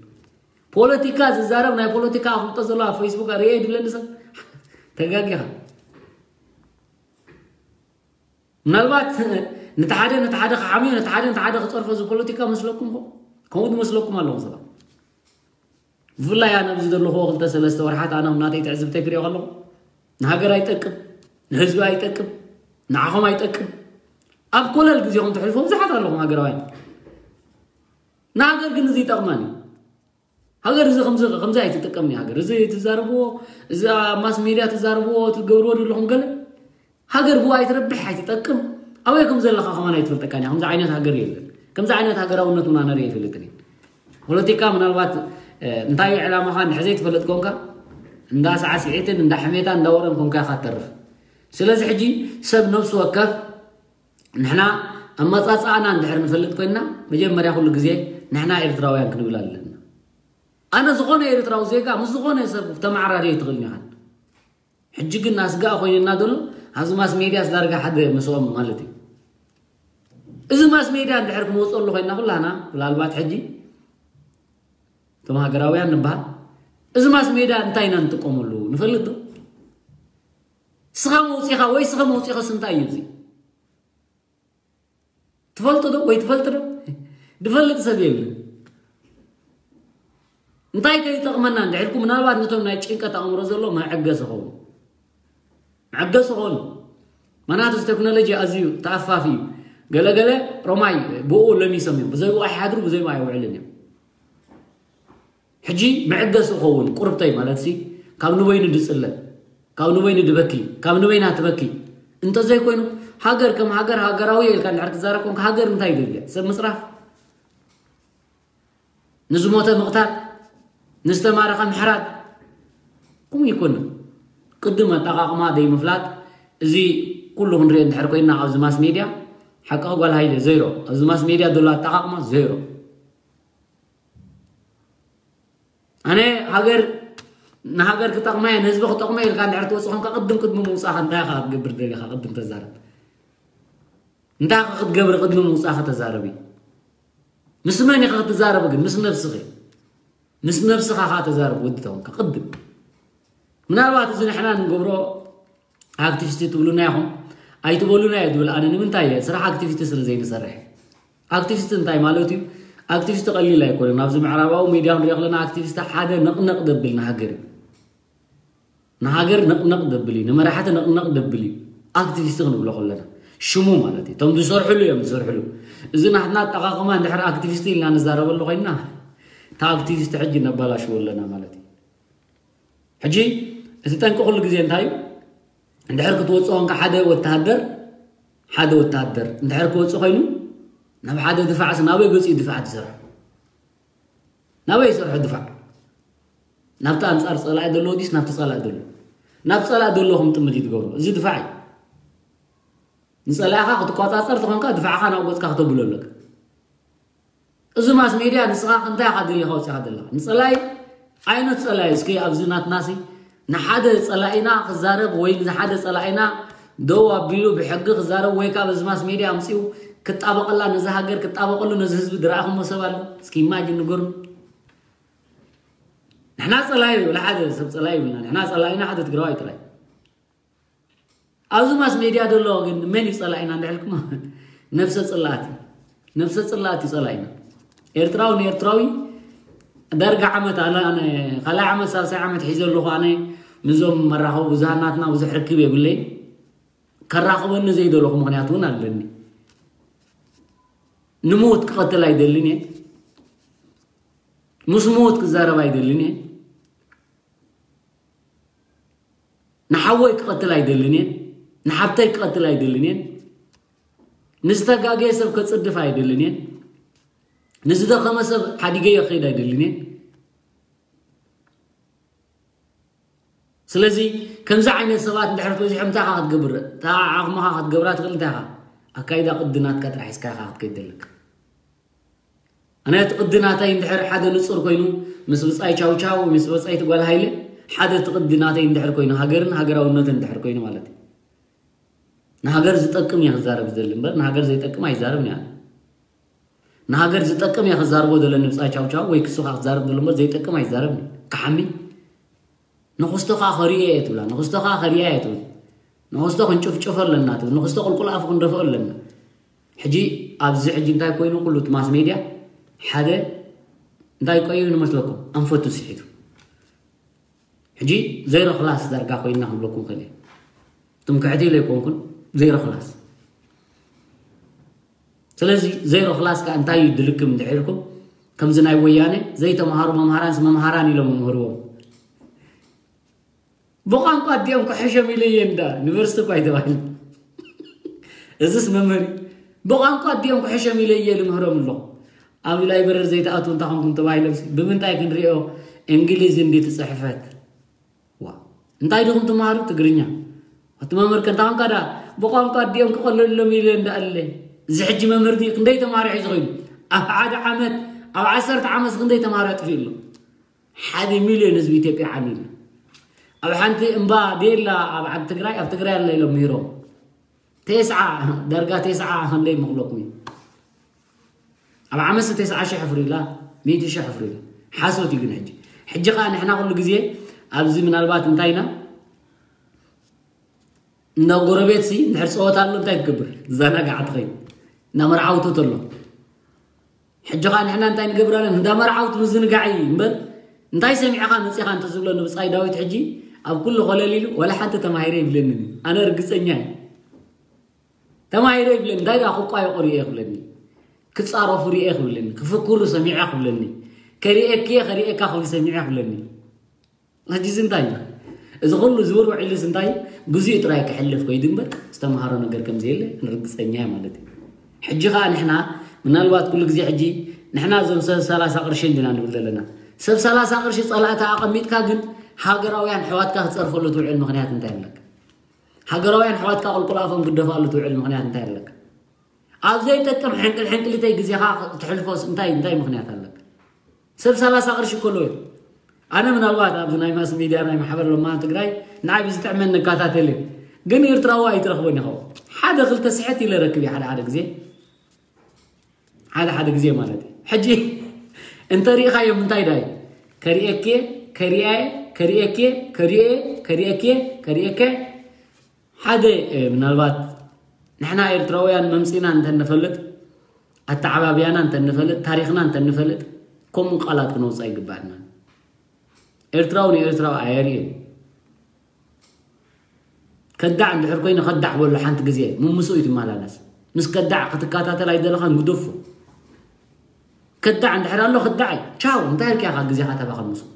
ፖለቲካ ዝዛረብ ናይ ፖለቲካ ኣፍልጦ ዘሎ ኣብ ፌስቡክ ርኤ ድብለኒ ሰብ ተጋጊኻ። ምናልባት ነቲ ሓደ ነቲ ሓደ ክሓምዮ፣ ነቲ ሓደ ነቲ ሓደ ክፀርፎ እዚ ፖለቲካ መስለኩም ኸ? ከምኡ ዝመስለኩም ኣለኹም ሰባት። ብፍላይ ኣነ ኣብዚ ዘለኹዎ ክልተ ሰለስተ ወርሓት ኣነ ናተይ ትዕዝብተይ ክሪኦ ከለኹ ንሃገር ኣይጠቅም፣ ንህዝቢ ኣይጠቅም፣ ንዓኹም ኣይጠቅም። ኣብ ኮለል ግዜኹም ትሕልፎ ብዙሓት ኣለኹም ሃገራውያን። ንሃገር ግን እዚ ይጠቕማን እዩ። ሃገር እዚ ከምዚ ከምዚ ኣይትጥቀምን እያ ሃገር። እዚ ትዛረብዎ፣ እዚ ኣብ ማስ ሜድያ ትዛረብዎ፣ ትገብርዎ ዘለኹም ገለ ሃገር ብኡ ኣይትረብሕ፣ ኣይትጠቅም። ኣበይ ከም ዘለኻ ከማን ኣይትፈልጠካን እያ። ከምዚ ዓይነት ሃገር የለን። ከምዚ ዓይነት ሃገራውነት እውን ኣነ ርእየ ኣይፈልጥን እየ። ፖለቲካ ምናልባት፣ እ፣ እንታይ እዩ ዕላማኻ እንድሕር ዘይትፈልጥ ኮንካ፣ እንዳ ሳዕስዒትን እንዳ ሕሜታ እንዳ ወረን ኮንካ ኢኻ ትተርፍ። ስለዚ ሕጂ ሰብ ነፍሲ ወከፍ ንሕና ኣመጻጽኣና እንድሕር ንፈልጥ ኮይንና፣ መጀመርያ ኩሉ ግዜ ንሕና ኤርትራውያን ክንብል ኣለና። ኣነ ዝኾነ ኤርትራዊ ዜጋ ምስ ዝኾነ ሰብ ተመዓራርየ ኣይትኽእልን ኢኻን። ሕጂ ግን ኣስጋእ ኮይንና ዘሎ ኣብዚ ማስ ሜድያስ ዳርጋ ሓደ ምስኦም ማለት እዩ። እዚ ማስ ሜድያ እንድሕር ክንወፅኦ ኣሎ ኮይንና ኩላና ምናልባት ሕጂ እቶም ሃገራውያን ንበሃል፣ እዚ ማስ ሜድያ እንታይ ኢና ንጥቀመሉ ንፈልጥ ዶ? ስኻ መውፂኻ ወይ ስኸ መውፂኸስ እንታይ እዩ እዚ? ትፈልጡ ዶ ወይ ትፈልጥ ዶ? ዝፈልጥ ሰብ የለን። እንታይ ከ ይጠቕመና እንድሕር ኢልኩም ምናልባት ነቶም ናይ ጭንቀት ኣእምሮ ዘሎ መዐገሲ ኸውን። መዐገሲ ኸውን። ምኽንያቱ እዚ ቴክኖሎጂ ኣዝዩ ተኣፋፊ እዩ። ገለገለ ሮማይ ብኡ ለሚሶም እዮም። ብዘይ ብኡ ኣይሓድሩ፣ ብዘይ ብኡ ኣይውዕልን እዮም። ሕጂ መዐገሲ ኸውን ቁርብተይ ማለት ሲ ካብ ንበይኑ ድጽለ፣ ካብ ንበይኑ ድበኪ፣ ካብ ንበይና ትበኪ። እንተዘይኮይኑ ሃገር ከም ሃገር ሃገራዊ ኢልካ እንድሕር ትዛረብ ኮንካ ሃገር እንታይ ይደልያ? ሰብ ምጽራፍ? ንዝሞተ ምቕታል፣ ንዝተማረኸ ምሕራድ፣ ከምኡ ይኮን። ቅድም ኣጠቓቕማ ዘይምፍላጥ፣ እዚ ኩሉ ክንሪኦ እንድሕር ኮይና ኣብዚ ማስ ሜድያ፣ ሓቂ ጓል ሃይለ ዜሮ። ኣብዚ ማስ ሜድያ ዘሎ ኣጠቓቕማ ዜሮ። ኣነ ሃገር፣ ንሃገር ክጠቕማ እየ፣ ንህዝቢ ክጠቕማ እየ ኢልካ እንድሕር ትወፅእ ኮንካ፣ ቅድም ቅድሚ ምውፃእካ እንታይ ኢኻ ክትገብር ደሊኻ? ቅድም ተዛረብ። እንታይ ኢኻ ክትገብር ቅድሚ ምውፃእካ ተዛረቢ። ምስ መን ኢኻ ክትዛረብ ግን? ምስ ነብስኺ። ምስ ነብስኻ ኸዓ ተዛረብ ወዲ ተኾንካ ቅድም። ምናልባት እዚ ንሕና ንገብሮ ኣክቲቪስት ትብሉና ኢኹም፣ ኣይትበሉና እየ ዝብል ኣነ። ንምንታይ እየ? ስራሕ ኣክቲቪስት ስለ ዘይንሰርሕ። ኣክቲቪስት እንታይ ማለት እዩ? ኣክቲቪስት ቀሊል ኣይኮነን። ኣብዚ ምዕራባዊ ሚድያ ክንሪኦ ከለና ኣክቲቪስት ሓደ ነቕነቕ ደብል ንሃገር እዩ። ንሃገር ነቕነቕ ደብል እዩ፣ ንመራሕቲ ነቕነቕ ደብል እዩ። ኣክቲቪስት ክንብሎ ከለና ሽሙ ማለት እዩ። እቶም ዝሰርሕሉ እዮም ዝሰርሕሉ። እዚ ናትና ኣጠቓቕማ እንድሕር ኣክቲቪስት ኢልና ንዛረበሉ ኮይንና፣ እታ ኣክቲቪስት ሕጂ ነባላሽዎ ኣለና ማለት እዩ። ሕጂ እቲ ጠንቂ ኩሉ ግዜ እንታይ እዩ? እንድሕር ክትወፅኦ እንካ ሓደ ወተሃደር፣ ሓደ ወተሃደር እንድሕር ክወፅእ ኮይኑ፣ ናብ ሓደ ድፋዕስ ናበይ ገፂኡ ድፋዕ ትሰርሑ? ናበይ ይሰርሑ ድፋዕ? ናብቲ ኣንጻር ጸላኢ ዘለዎ ዲስ ናብቲ ጸላኢ ዘሎ? ናብ ጸላኢ ዘለኹም ጥምት ይትገብሩ። እዚ ድፋዕ እዩ። ንጸላኢኻ ክትቆጻጸር ተኾንካ ድፋዕኻ ናብ ገጽካ ክተብሎ ኣለካ። እዚ ማስ ሜድያ ንስኻ እንታይ ኢኻ ደሊኻ ወጺኻ ዘለኻ? ንጸላኢ ዓይነት ጸላኢ እስኪ ኣብዚ ናትናሲ ንሓደ ጸላኢና ክዛረብ ወይ ንሓደ ጸላኢና ደው ኣቢሉ ብሕጊ ክዛረብ ወይ ካብ እዚ ማስ ሜድያ ኣምጺኡ ክጣበቐላ ነዚ ሃገር ክጣበቐሉ ነዚ ህዝቢ ዝረኣኹሞ ሰብ ኣሎ? እስኪ ኢማጂን ንገሩን። ንሕና ጸላኢ ወላ ሓደ ሰብ ጸላኢ ይብልና። ንሕና ጸላኢና ሓደ ትግራዋይ ጥራይ። ኣብዚ ማስ ሜድያ ዘሎ ግን መን እዩ ጸላኢና እንድሕልኩም? ነብሰ ጽላእቲ። ነብሰ ጽላእቲ ጸላኢና። ኤርትራዊ ንኤርትራዊ ዳርጋ ዓመት ኣነ ኣነ ካልኣይ ዓመት ሳልሳይ ዓመት ሒዘ ኣለኹ። ኣነ ምስዞም መራኸቢ ብዙሃን ናትና ብዙሕ ርክብ የብለይ። ከራኽበኒ ዘይደለኹ ምኽንያት እውን ኣለኒ። ንሞት ክቐትል ኣይደልን እየ። ምስ ሞት ክዛረብ ኣይደልን እየ። ንሓወይ ክቐትል ኣይደልን እየ። ንሓብተይ ክቐትል ኣይደልን እየ። ንዝተጋገየ ሰብ ከጽድፍ ኣይደልን እየ። ንዝደኸመ ሰብ ሓዲገዮ ክኸይድ ኣይደልን እየ። ስለዚ ከምዚ ዓይነት ሰባት እንድሕር ተበዚሖም እንታይ ኢኻ ክትገብር? እታ ዓቕምኻ ክትገብራ ትኽእል እንታይ ኢኻ? ኣካይዳ ቅዲ ናትካ ጥራሕ ሒዝካ ኢኻ ክትከይድ ዘለካ። ኣነ እቲ ቅዲ ናተይ እንድሕር ሓደ ንጹር ኮይኑ ምስ ብጻይ ቻው ቻው፣ ምስ ብጻይ ትጓል ሃይለ ሓደ እቲ ቅዲ ናተይ እንድሕር ኮይኑ ሃገርን ሃገራውነትን እንድሕር ኮይኑ ማለት እዩ። ንሃገር ዝጠቅም እየ ክዛረብ ዝደሊ እምበር ንሃገር ዘይጠቅም ኣይዛረብን እየ። ንሃገር ዝጠቅም እየ ክዛረቦ ዘለኒ ብጻይ ቻው ቻው ወይ ክሱኻ ክዛረብ ዘሎ እምበር ዘይጠቅም ኣይዛረብን። ክሓሚ ንኽስቶኻ ከርእዮ እየ ትብላ፣ ንኽስቶኻ ከርእያ እየ ትብል። ንኽስቶ ክንጭፍጭፎ ኣለና ትብል፣ ንኽስቶ ቁልቁል ኣፉ ክንደፍኦ ኣለና። ሕጂ ኣብዚ ሕጂ እንታይ ኮይኑ ኩሉ እቲ ማስ ሜድያ ሓደ እንታይ ኮይኑ መስለኩም? ኣንፈቱ ስሒቱ። ሕጂ ዜሮ ክላስ ዳርጋ ኮይንና ክብለኩም ከለ ትምክሕቲ ኢለ ኣይኮንኩን። ዜሮ ክላስ። ስለዚ ዜሮ ክላስ ከ እንታይ እዩ ድልክም እንድሕር ኢልኩም ከምዚ ናይ ወያነ ዘይተምሃሩ መምሃራንስ መምሃራን ኢሎም መምህርዎም። ብቋንቋ ኣዲኦም ክሕሸም ኢለ እየ እንዳ ዩኒቨርሲቲ እኳ ኣይተባሂሉ። እዚስ መምህር እዩ። ብቋንቋ ኣዲኦም ክሕሸም ኢለ እየ ልምህሮም ኣለኹ። ኣብ ላይብረሪ ዘይትኣትዉ እንታ ኮንኩም ተባሂሎምሲ ብምንታይ ክንሪኦ? እንግሊዝ እንዲ ትፅሕፈት። ዋ፣ እንታይ ዲኹም ትምሃሩ? ትግርኛ። እቲ መምህር ከ እንታይ ኮንካ ዳ ብቋንቋ ኣዲኦም ክቐለሎም ኢለ እንዳ ኣለ። እዚ ሕጂ መምህር ድዩ? ክንደይ ተምሃሮ ሒዙ ኮይኑ? ኣብ ሓደ ዓመት፣ ኣብ ዓሰርተ ዓመት ክንደይ ተምሃሮ ኣጥፊኡ ኣሎ? ሓደ ሚልዮን ህዝቢ ኢትዮጵያ ዓንዩ ኣሎ። ኣብ ሓንቲ እምባ ዴላ ኣብ ዓዲ ትግራይ፣ ኣብ ትግራይ ኣላ ኢሎም ምሂሮም። ቴስዓ፣ ዳርጋ ቴስዓ ክንደይ ምኽለኩም እዩ? ኣብ ዓመት ቴስዓ ሺሕ ኣፍሪላ፣ ሚእቲ ሺሕ ኣፍሪላ። ሓሶት እዩ ግን ሕጂ። ሕጂ ኸዓ ንሕና ኩሉ ግዜ ኣብዚ ምናልባት እንታይ ኢና? እንዳ ጎረቤትሲ እንድሕር ጸወታ ኣሎ እንታይ ትገብር? ትዘናጋዕ ትኸይድ። እንዳ መርዓውቲ ተሎ። ሕጂ ኸዓ ንሕና እንታይ ንገብር ኣለና? እንዳ መርዓውቲ ምዝንጋዕ እዩ እምበር እንታይ ሰሚዕኻ መጺኻ እንተዝብለኒ ብጻይ ዳዊት ሕጂ ኣብ ኩሉ ኮለል ኢሉ ዋላ ሓንቲ ተማሂረ ይብለኒ። ኣነ ርግጸኛ እየ። ተማሂረ ይብለኒ። እንታይ ደኣ ክቋየቑ ርእየ ክብለኒ። ክጻረፉ ርእየ ክብለኒ። ክፍክሩ ሰሚዐ ክብለኒ። ከርእየኪ እየ፣ ከርእየካ ክብሉ ሰሚዐ ክብለኒ። ሕጂ እዚ እንታይ እዩ? እዚ ኩሉ ዝውር ውዒሉስ እንታይ እዩ? ግዜኡ ጥራይ ክሕልፍ ከይዱ እምበር ዝተምሃሮ ነገር ከም ዘየለ ርግጸኛ እየ ማለት እዩ። ሕጂ ኸኣ ንሕና ምናልባት ኩሉ ግዜ ሕጂ ንሕና እዞም ሰብ ሰላሳ ቅርሺ እንዲና ንብል ዘለና። ሰብ ሰላሳ ቅርሺ ጸላእታ ኣቐሚጥካ ግን ሃገራውያን ኣሕዋትካ ክጸርፈሉ ትውዕል ምኽንያት እንታይ ኣለካ? ሃገራውያን ኣሕዋትካ ቁልቁል ኣፎም ክደፋሉ ትውዕል ምኽንያት እንታይ ኣለካ? ኣብ ዘይጠቅም ሕንቅል ሕንቅሊተይ ግዜኻ ትሕልፎስ እንታይ እንታይ ምኽንያት ኣለካ? ሰብ ሰላሳ ቅርሺ ከሎ እዩ። ኣነ ምናልባት ኣብዚ ናይ ማስ ሚድያ ናይ ማሕበር ለማን ትግራይ ንዓይ ብዝጥዕመን ንከታተል እዩ። ግን ኤርትራዊ ኣይትረኽቦን ኢኻ። ሓደ ክልተ ስሕት ኢለ ረክብ እየ ሓደ ሓደ ግዜ። ሓደ ሓደ ግዜ ማለት እዩ። ሕጂ እንተ ሪኢኻዮም እንታይ ዳይ? ከሪኤኬ፣ ከሪኤ፣ ከሪኤኬ፣ ከሪኤ፣ ከሪኤኬ፣ ከሪኤኬ። ሓደ ምናልባት ንሕና ኤርትራውያን መምፂና እንተንፈልጥ ኣተዓባብያና እንተንፈልጥ ታሪኽና እንተንፈልጥ ከምኡ ቃላት ክነውፅእ ኣይግባእና። ኤርትራዊ ንኤርትራዊ ኣየርእን። ከዳዕ እንድሕር ኮይኑ ከዳዕ በሎ ሓንቲ ግዜ ምምስኡ እዩ ትመላለስ። ምስ ከዳዕ ክትከታተል ኣይደለኻን ግደፎ። ከዳዕ እንድሕር ኣሎ ከዳዕ እዩ። ቻው እንታይ ኢልካ ኢኻ ግዜኻ ተባኽን ምስኡ?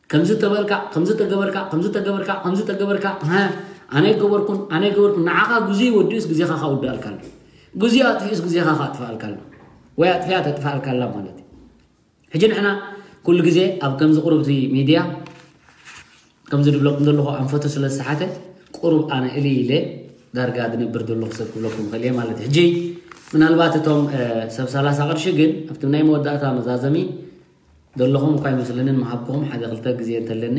ከምዚ ተበልካ ከምዚ ተገበርካ ከምዚ ተገበርካ ከምዚ ተገበርካ ከምዚ ተገበርካ ሃ፣ ኣነ ኣይገበርኩን ኣነ ኣይገበርኩን። ንዓኻ ግዜ ወዲኡስ ግዜኻ ካውድኣልካ ኣሎ። ግዜ ኣጥፊኡስ ግዜኻ ካጥፍኣልካ ኣሎ። ወይ ኣጥፊኣ ተጥፍኣልካ ኣላ ማለት እዩ። ሕጂ ንሕና ኩሉ ግዜ ኣብ ከምዚ ቁሩብ እቲ ሚድያ ከምዚ ድብለኩም ዘለኹ ኣንፈቱ ስለ ዝሰሓተ ቁሩብ ኣነ እሊ ኢለ ዳርጋ ድነብር ዘለኹ ሰብ ክብለኩም ይኽእል እየ ማለት እዩ። ሕጂ ምናልባት እቶም ሰብ ሰላሳ ቅርሺ ግን ኣብቲ ናይ መወዳእታ መዛዘሚ ዘለኹም እኳ ይመስለንን ምሃብኩም ሓደ ክልተ ግዜ እንተለኒ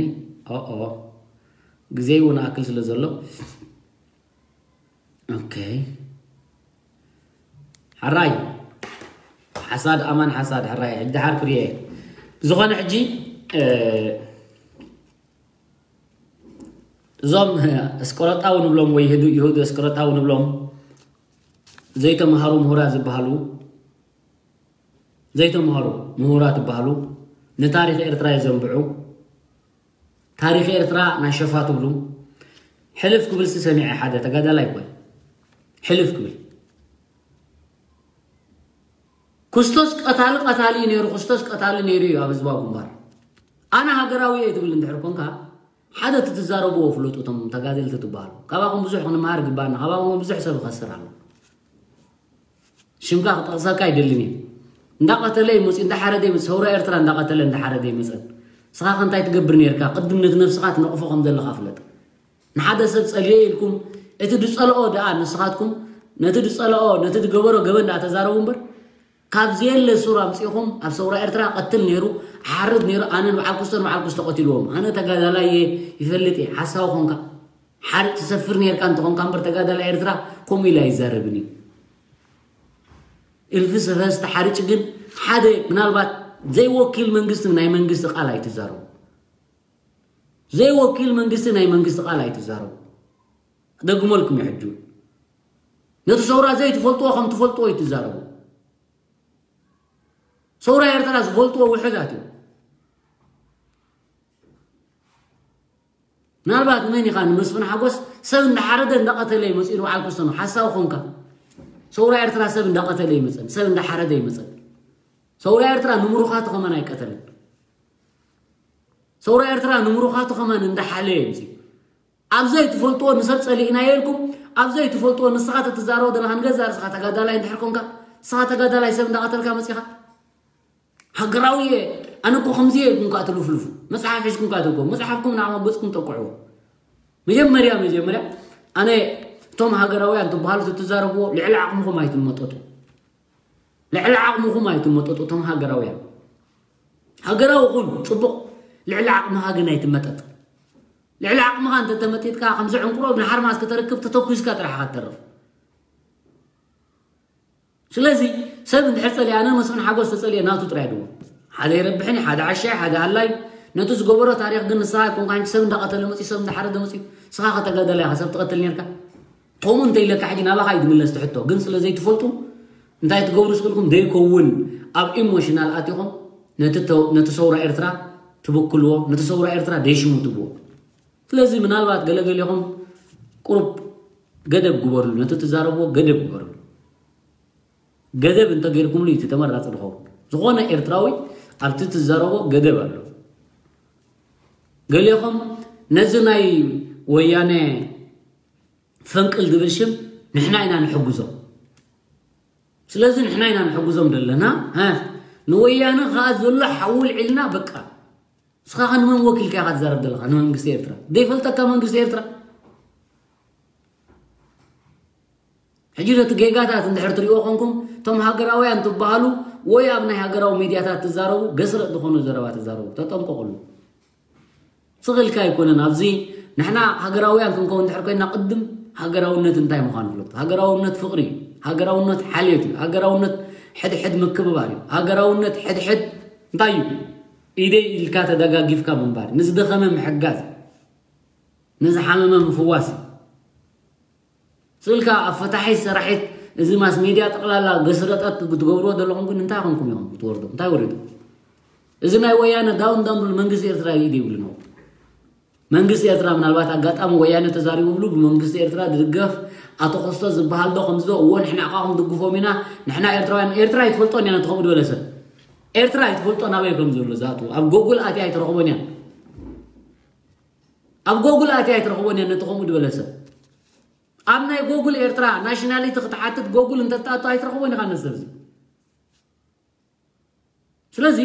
ኦኦ ግዜ እውን ኣክል ስለ ዘሎ ኦኬ። ሕራይ ሓሳድ ኣማን ሓሳድ ሕራይ ሕጂ ድሓር ክርየ ብዝኾነ ሕጂ እዞም እስቆረጣዊ ንብሎም ወይ ይሁዱ እስቆረጣዊ ንብሎም ዘይተምሃሩ ምሁራ ዝበሃሉ ዘይተምሃሩ ምሁራ ትበሃሉ ንታሪክ ኤርትራ የዘንብዑ። ታሪክ ኤርትራ ናይ ሸፋ ትብሉ ሕልፍ ክብል ሲ ሰሚዐ ሓደ ተጋዳላይ ኮይ ሕልፍ ክብል ክስቶስ ቀታሊ ቀታሊ እዩ ነይሩ። ክስቶስ ቀታሊ ነይሩ እዩ ኣብ ህዝባዊ ግንባር። ኣነ ሃገራዊ እየ ትብል እንድሕር ኮንካ ሓደ እቲ ትዛረብዎ ፍለጡ። እቶም ተጋደልቲ ትበሃሉ ካባኹም ብዙሕ ክንመሃር ግባና። ካባኹም ብዙሕ ሰብ ይኸስር ኣሎ። ሽምካ ክጠቕሰካ ኣይደልን እየ። እንዳቐተለ ይመፅእ እንዳሓረደ ይመፅእ ሰውራ ኤርትራ እንዳቐተለ እንዳሓረደ ይመፀን። ንስኻ ከ እንታይ ትገብር ነርካ? ቅድም ነቲ ነብስኻ ትነቕፎ ከም ዘለኻ ፍለጥ። ንሓደ ሰብ ጸልየ ኢልኩም እቲ ድጸልኦ ደኣ ንስኻትኩም ነቲ ድጸልኦ ነቲ ድገበሮ ገበን ደኣ ተዛረቡ እምበር ካብ ዘየለ ሱር ኣምጺእኹም ኣብ ሰውራ ኤርትራ ቀትል ነይሩ ሓርድ ነይሩ ኣነን በዓል ኩስቶን በዓል ኩስቶ ቀቲልዎም ኣነ ተጋዳላይ እየ ይፈልጥ እየ ሓሳዊ ኾንካ ሓርድ ትሰፍር ነርካ እንተኾንካ እምበር ተጋዳላይ ኤርትራ ከምኡ ኢሉ ኣይዛረብን እዩ እልፊ ሰፈ ዝተሓርጭ ግን ሓደ ምናልባት ዘይወኪል መንግስቲ ናይ መንግስቲ ቃል ኣይትዛረቡ ዘይወኪል መንግስቲ ናይ መንግስቲ ቃል ኣይትዛረቡ። ክደግመልኩም ይሕጁ። ነቲ ሰውራ ዘይትፈልጥዎ ከም ትፈልጥዎ ኣይትዛረቡ። ሰውራ ኤርትራ ዝፈልጥዎ ውሕዳት እዮም። ምናልባት መን ኢኻ ንመስፍን ሓጎስ ሰብ እንዳሓረደ እንዳቐተለ ይመፅኡ ንበዓል ክስተኑ ሓሳዊ ኮንካ ሰውራ ኤርትራ ሰብ እንዳቐተለ ይመፀን ሰብ እንዳሓረደ ይመፀን ሰውራ ኤርትራ ንምሩኻቱ ከመን ኣይቀተልን ሰውራ ኤርትራ ንምሩኻቱ ከማን እንዳሓለየ እዩ ኣብዚ ትፈልጥዎ ንሰብ ጸሊእናዮ ኢልኩም ኣብዚ ትፈልጥዎ ንስኻ ተትዛረቦ ዘለኻ ንገዛእ ርእስኻ ተጋዳላይ እንድሕር ኮንካ ንስኻ ተጋዳላይ ሰብ እንዳቐተልካ መጺኻ ሃገራዊ እየ ኣነ እኮ ከምዚ እየ ኢልኩም ከዓ ትልፍልፉ መጽሓፍ ሒዝኩም ከዓ ትልኮ መጽሓፍኩም ንዓኹም ኣብ ገጽኩም ጠቅዕዎ መጀመርያ መጀመርያ ኣነ እቶም ሃገራውያን ትበሃሉ ትትዛረብዎ ልዕሊ ዓቕምኹም ኣይትመጠጡ ልዕሊ ዓቕምኹም ኣይትመጠጡ እቶም ሃገራውያን ሃገራዊ ኩን ጽቡቕ ልዕሊ ዓቕምኻ ግን ኣይትመጠጥ ልዕሊ ዓቕምኻ እንተተመጢጥካ ከምዚ ዕንቁሮ ብሓርማዝ ከተርክብ ተተኩስካ ጥራሕ ኢኻ ትተርፍ ስለዚ ሰብ እንድሕር ጸሊኣ ኣነ መስፍን ሓጎስ ተጸሊአ ናቱ ጥራይ ድዎ ሓደ ይረብሕን ሓደ ዓሻይ ሓደ ኣላይ ነቲ ዝገበሮ ታሪኽ ግን ንስኻ ይኮንካ ሰብ እንዳቐተለ መጺ ሰብ እንዳሓረደ መጺ ስኻ ከተጋደላ ኢኻ ሰብ ትቐትል ነርካ ከምኡ እንተ ኢለካ ሕጂ ናባኻ እዩ ዝምለስ ትሕቶ ግን ስለ ዘይትፈልጡ እንታይ ትገብሩ ስክልኩም ዘይከውን ኣብ ኢሞሽናል ኣቲኹም ነቲ ሰውራ ኤርትራ ትብክልዎ ነቲ ሰውራ ኤርትራ ደይሽሙ ትብዎ ስለዚ ምናልባት ገለገሌኹም ቁሩብ ገደብ ግበርሉ ነቲ ትዛረብዎ ገደብ ግበርሉ ገደብ እንተገይርኩምሉ እዩ ተመራፂ ዝኸውን ዝኾነ ኤርትራዊ ኣብቲ ትዛረቦ ገደብ ኣሎ ገሌኹም ነዚ ናይ ወያነ ፈንቅል ዝብል ሽም ንሕና ኢና ንሕግዞ ስለዚ ንሕና ኢና ንሕግዞም ዘለና። እ፣ ንወያነ ከዓ ዘሎ ሓዊ ውልዒልና በቃ። ንስኻ ከ ንመን ወኪልካ ኢኻ ትዛረብ ዘለኻ? ንመንግስቲ ኤርትራ? ዘይፈልጠካ መንግስቲ ኤርትራ? ሕጂ ነቲ ጌጋታት እንድሕር ትሪእዎ ኮንኩም፣ እቶም ሃገራውያን ትበሃሉ ወይ ኣብ ናይ ሃገራዊ ሚድያታት ትዛረቡ፣ ገስረጥ ዝኾነ ዘረባ ትዛረቡ፣ ተጠንቀቑሉ። ስቕ ኢልካ ኣይኮነን። ኣብዚ ንሕና ሃገራውያን ክንከውን እንድሕር ኮይና፣ ቅድም ሃገራውነት እንታይ ምዃኑ ፍለጡ። ሃገራውነት ፍቕሪ እዩ። ሃገራውነት ሓልዮት እዩ። ሃገራውነት ሕድሕድ ምክብባር እዩ። ሃገራውነት ሕድሕድ እንታይ እዩ? ኢደይ ኢልካ ተደጋጊፍካ ምንባር፣ ንዝደኸመ ምሕጋዝ፣ ንዝሓመመ ምፍዋስ እዩ። ስልካ ኣብ ፈታሒት ሰራሒት እዚ ማስ ሜድያ ጠቕላላ ገስረጣት ክትገብርዎ ዘለኹም ግን እንታይ ኮንኩም ኢኹም ክትወርዱ? እንታይ ወሪዱ? እዚ ናይ ወያነ ዳውን ዳውን ብሉ መንግስቲ ኤርትራ ኢድ ይብሉ ነው። መንግስቲ ኤርትራ ምናልባት ኣጋጣሚ ወያነ ተዛሪቡ ብሉ ብመንግስቲ ኤርትራ ዝድገፍ ኣቶ ኮስቶ ዝበሃል ዶ ከምዚ ዶ? እዎ ንሕና ዕቃኹም ድግፎም ኢና። ንሕና ኤርትራውያን፣ ኤርትራ ኣይትፈልጦን እያ ነቲ ከምኡ ዝበለ ሰብ። ኤርትራ ኣይትፈልጦ ናበይ ከም ዘሎ ዝኣትዎ። ኣብ ጎጉል ኣትያ ኣይትረኽቦን እያ። ኣብ ጎጉል ኣትያ ኣይትረኽቦን እያ ነቲ ከምኡ ዝበለ ሰብ። ኣብ ናይ ጎጉል ኤርትራ ናሽናሊቲ ክትሓትት ጎጉል እንተትኣቱ ኣይትረኽቦን ኢኻ ነዚ ሰብ እዚ። ስለዚ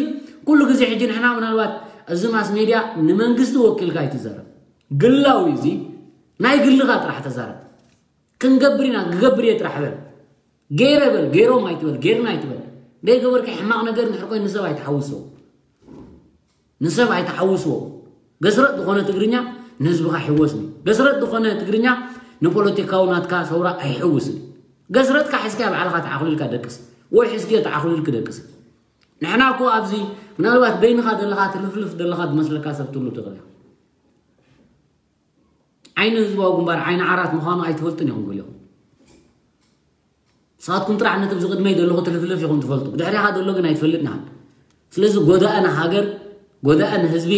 ኩሉ ግዜ ሕጂ ንሕና ምናልባት እዚ ማስ ሜድያ ንመንግስቲ ወኪልካ ኣይትዛረብ። ግላዊ እዚ ናይ ግልኻ ጥራሕ ተዛረብ። ክንገብር ኢና፣ ክገብር እየ ጥራሕ በል። ገይረ በል፣ ገይሮም ኣይትበል፣ ገይርና ኣይትበል። ዘይገበርካ ሕማቕ ነገር እንድሕር ኮይኑ ንሰብ ኣይትሓውሶ። ንሰብ ኣይትሓውስዎ። ገስረጥ ዝኾነ ትግርኛ ንህዝብኻ ይሕወስኒ። ገስረጥ ዝኾነ ትግርኛ ንፖለቲካዊ ናትካ ሰውራ ኣይሕውስን። ገስረጥካ ሒዝካ ባዕልኻ ተዓኹሊልካ ደቅስ፣ ወይ ሒዝክዮ ተዓኹሊልክ ደቅስ። ንሕና እኮ ኣብዚ ምናልባት በይንኻ ዘለኻ ትልፍልፍ ዘለኻ ዝመስለካ ሰብ ትህሉ ትኽእል ኢኻ። ዓይኒ ህዝባዊ ግንባር ዓይኒ ዓራት ምዃኑ ኣይትፈልጡን ኢኹም ገሊኹም። ንስኻትኩም ጥራሕ ነቲ ኣብዚ ቅድመይ ዘለኹ ትልፍልፍ ኢኹም ትፈልጡ። ብድሕሪኻ ዘሎ ግን ኣይትፈልጥን ኢኻ። ስለዚ ጎዳኢ ንሃገር፣ ጎዳኢ ንህዝቢ፣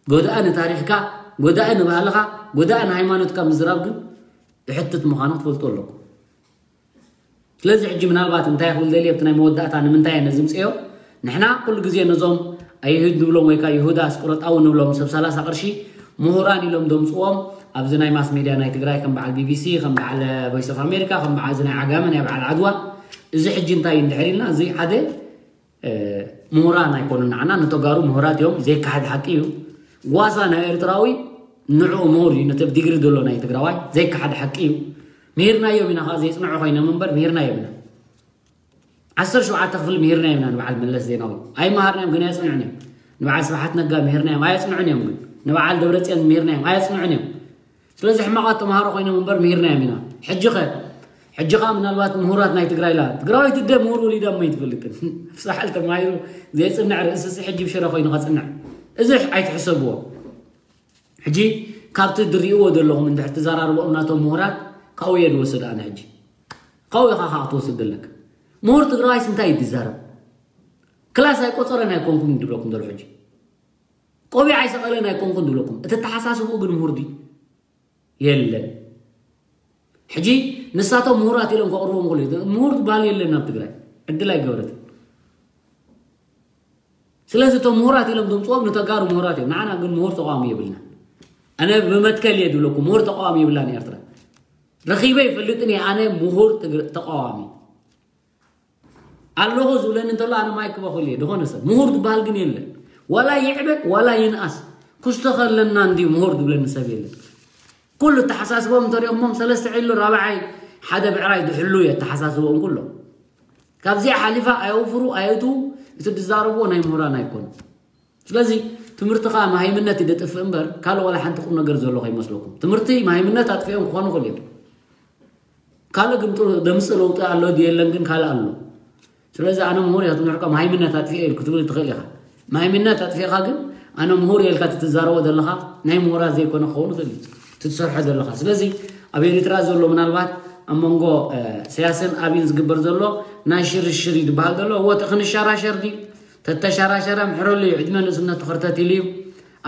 ጎዳኢ ንታሪኽካ፣ ጎዳኢ ንባህልኻ፣ ጎዳኢ ንሃይማኖትካ ምዝራብ ግን የሕትት ምዃኑ ክትፈልጡ ኣለኩም። ስለዚ ሕጂ ምናልባት እንታይ ክብል ደልየ ኣብቲ ናይ መወዳእታ ንምንታይ እየ ነዚ ምፅዮ? ንሕና ኩሉ ግዜ ነዞም ኣይሁድ ንብሎም ወይ ከዓ ይሁዳ ኣስቆሮጣዊ ንብሎም ሰብ ሰላሳ ቅርሺ ምሁራን ኢሎም ደምፅዎም ኣብዚ ናይ ማስ ሜድያ ናይ ትግራይ ከም በዓል ቢቢሲ፣ ከም በዓል ቮይስ ኦፍ ኣሜሪካ፣ ከም በዓል እዚ ናይ ዓጋመ ናይ በዓል ዓድዋ እዚ ሕጂ እንታይ እዩ እንድሕር ኢልና እዚ ሓደ እ፣ ምሁራን ኣይኮኑን ንዓና ንተጋሩ ምሁራት እዮም። ዘይከሓድ ሓቂ እዩ። ጓሳ ናይ ኤርትራዊ ንዕኡ ምሁር እዩ። ነቲ ኣብ ዲግሪ ዘሎ ናይ ትግራዋይ ዘይከሓድ ሓቂ እዩ። ምሂርናዮም ኢና ከዓ ዘይፅንዑ ኮይኖም እምበር ምሂርናዮም ኢና። ዓሰርተ ሸውዓተ ክፍሊ ምሂርናዮም ኢና ንበዓል መለስ ዜናዊ። ኣይመሃርናዮም ግን ኣየፅንዑን እዮም። ንበዓል ስብሓት ነጋ ምሂርናዮም ኣየፅንዑን እዮም ግን ንበዓል ደብረፅዮን ምሂርናዮም ኣየፅንዑን እዮም። ስለዚ ሕማቓት ተምሃሮ ኮይኖም እምበር ምሂርናዮም ኢና። ሕጂ ኸ ሕጂ ኸኣ ምናልባት ምሁራት ናይ ትግራይ ላ ትግራዋይ ትደ ምሁር ወሊዳ እሞ ኣይትፈልጥን። ፍሳሓል ተማሂሩ ዘይፅንዕ ርእስሲ ሕጂ ብሽረ ኮይኑ ከፅንዕ እዚ ኣይትሕሰብዎ። ሕጂ ካብቲ ድርእይዎ ዘለኹም እንድሕር ትዘራርቦኦም ናቶም ምሁራት ካብኡ እየ ዝወስድ ኣነ። ሕጂ ካብኡ ኢኻ ከዓ ክትወስድ ዘለካ። ምሁር ትግራዋይስ እንታይ እዩ ዝዛረብ? ክላስ ኣይቆፀረን ኣይኮንኩም ድብለኩም ዘሎ ሕጂ ቆቢዕ ኣይሰቐለን ኣይኮንኩን ድብለኩም። እቲ ኣተሓሳስብኡ ግን ምሁር ድዩ? የለን። ሕጂ ንሳቶም ምሁራት ኢሎም ከቕርቦም ክሉ ምሁር ዝበሃል የለን ኣብ ትግራይ ዕድል ኣይገበረትን። ስለዚ እቶም ምሁራት ኢሎም ድምፅዎም ንተጋሩ ምሁራት እዮም። ንዓና ግን ምሁር ተቃዋሚ የብልና። ኣነ ብመትከል እየ ድብለኩም ምሁር ተቃዋሚ የብላን ኤርትራ። ረኺበ ይፈልጥን እየ ኣነ ምሁር ትግር- ተቃዋሚ ኣለኹ ዝብለኒ እንተሎ ኣነ ማይክ በኹል እየ። ዝኾነ ሰብ ምሁር ዝበሃል ግን የለን። ዋላ ይዕበ ዋላ ይንኣስ ኩስቶ ከለና እንዲ ምሁር ዝብለኒ ሰብ የለን። ኩሉ ተሓሳስቦም እንተሪኦሞም ሰለስተ ዒሉ ራብዓይ ሓደ ብዕራይ ዝሕሉ እየ ተሓሳስቦም ኩሎም። ካብዚኣ ሓሊፋ ኣየውፍሩ ኣየእትዉ እቲ ዝዛረብዎ ናይ ምሁራን ኣይኮኑ። ስለዚ ትምህርቲ ከዓ መሃይምነት ይደጥፍእ እምበር ካልእ ዋላ ሓንቲ ቁም ነገር ዘሎ ከይመስለኩም። ትምህርቲ መሃይምነት ኣጥፊኦም ክኾኑ ይኽእሉ እዮም። ካልእ ግን ጥሩ ደምፅእ ለውጢ ኣሎ ድዩ የለን ግን ካልእ ኣሎ። ስለዚ ኣነ ምሁር እየ ክትምርቀ መሃይምነት ኣጥፊኤ ኢል ክትብል ትኽእል ኢኻ። መሃይምነት ኣጥፊእኻ ግን ኣነ ምሁር እየ ኢልካ ትትዛረቦ ዘለኻ ናይ ምሁራት ዘይኮነ ክኸውን ይኽእል እዩ ትትሰርሖ ዘለኻ። ስለዚ ኣብ ኤሪትራ ዘሎ ምናልባት ኣብ መንጎ ሰያስን ኣብን ዝግበር ዘሎ ናይ ሽርሽር እዩ ዝበሃል ዘሎ እወ ክንሸራሸር ድዩ? ተተሸራሸረ ምሕረሉ እዩ ዕድመ ንእስነቱ ክርተት ኢሉ እዩ።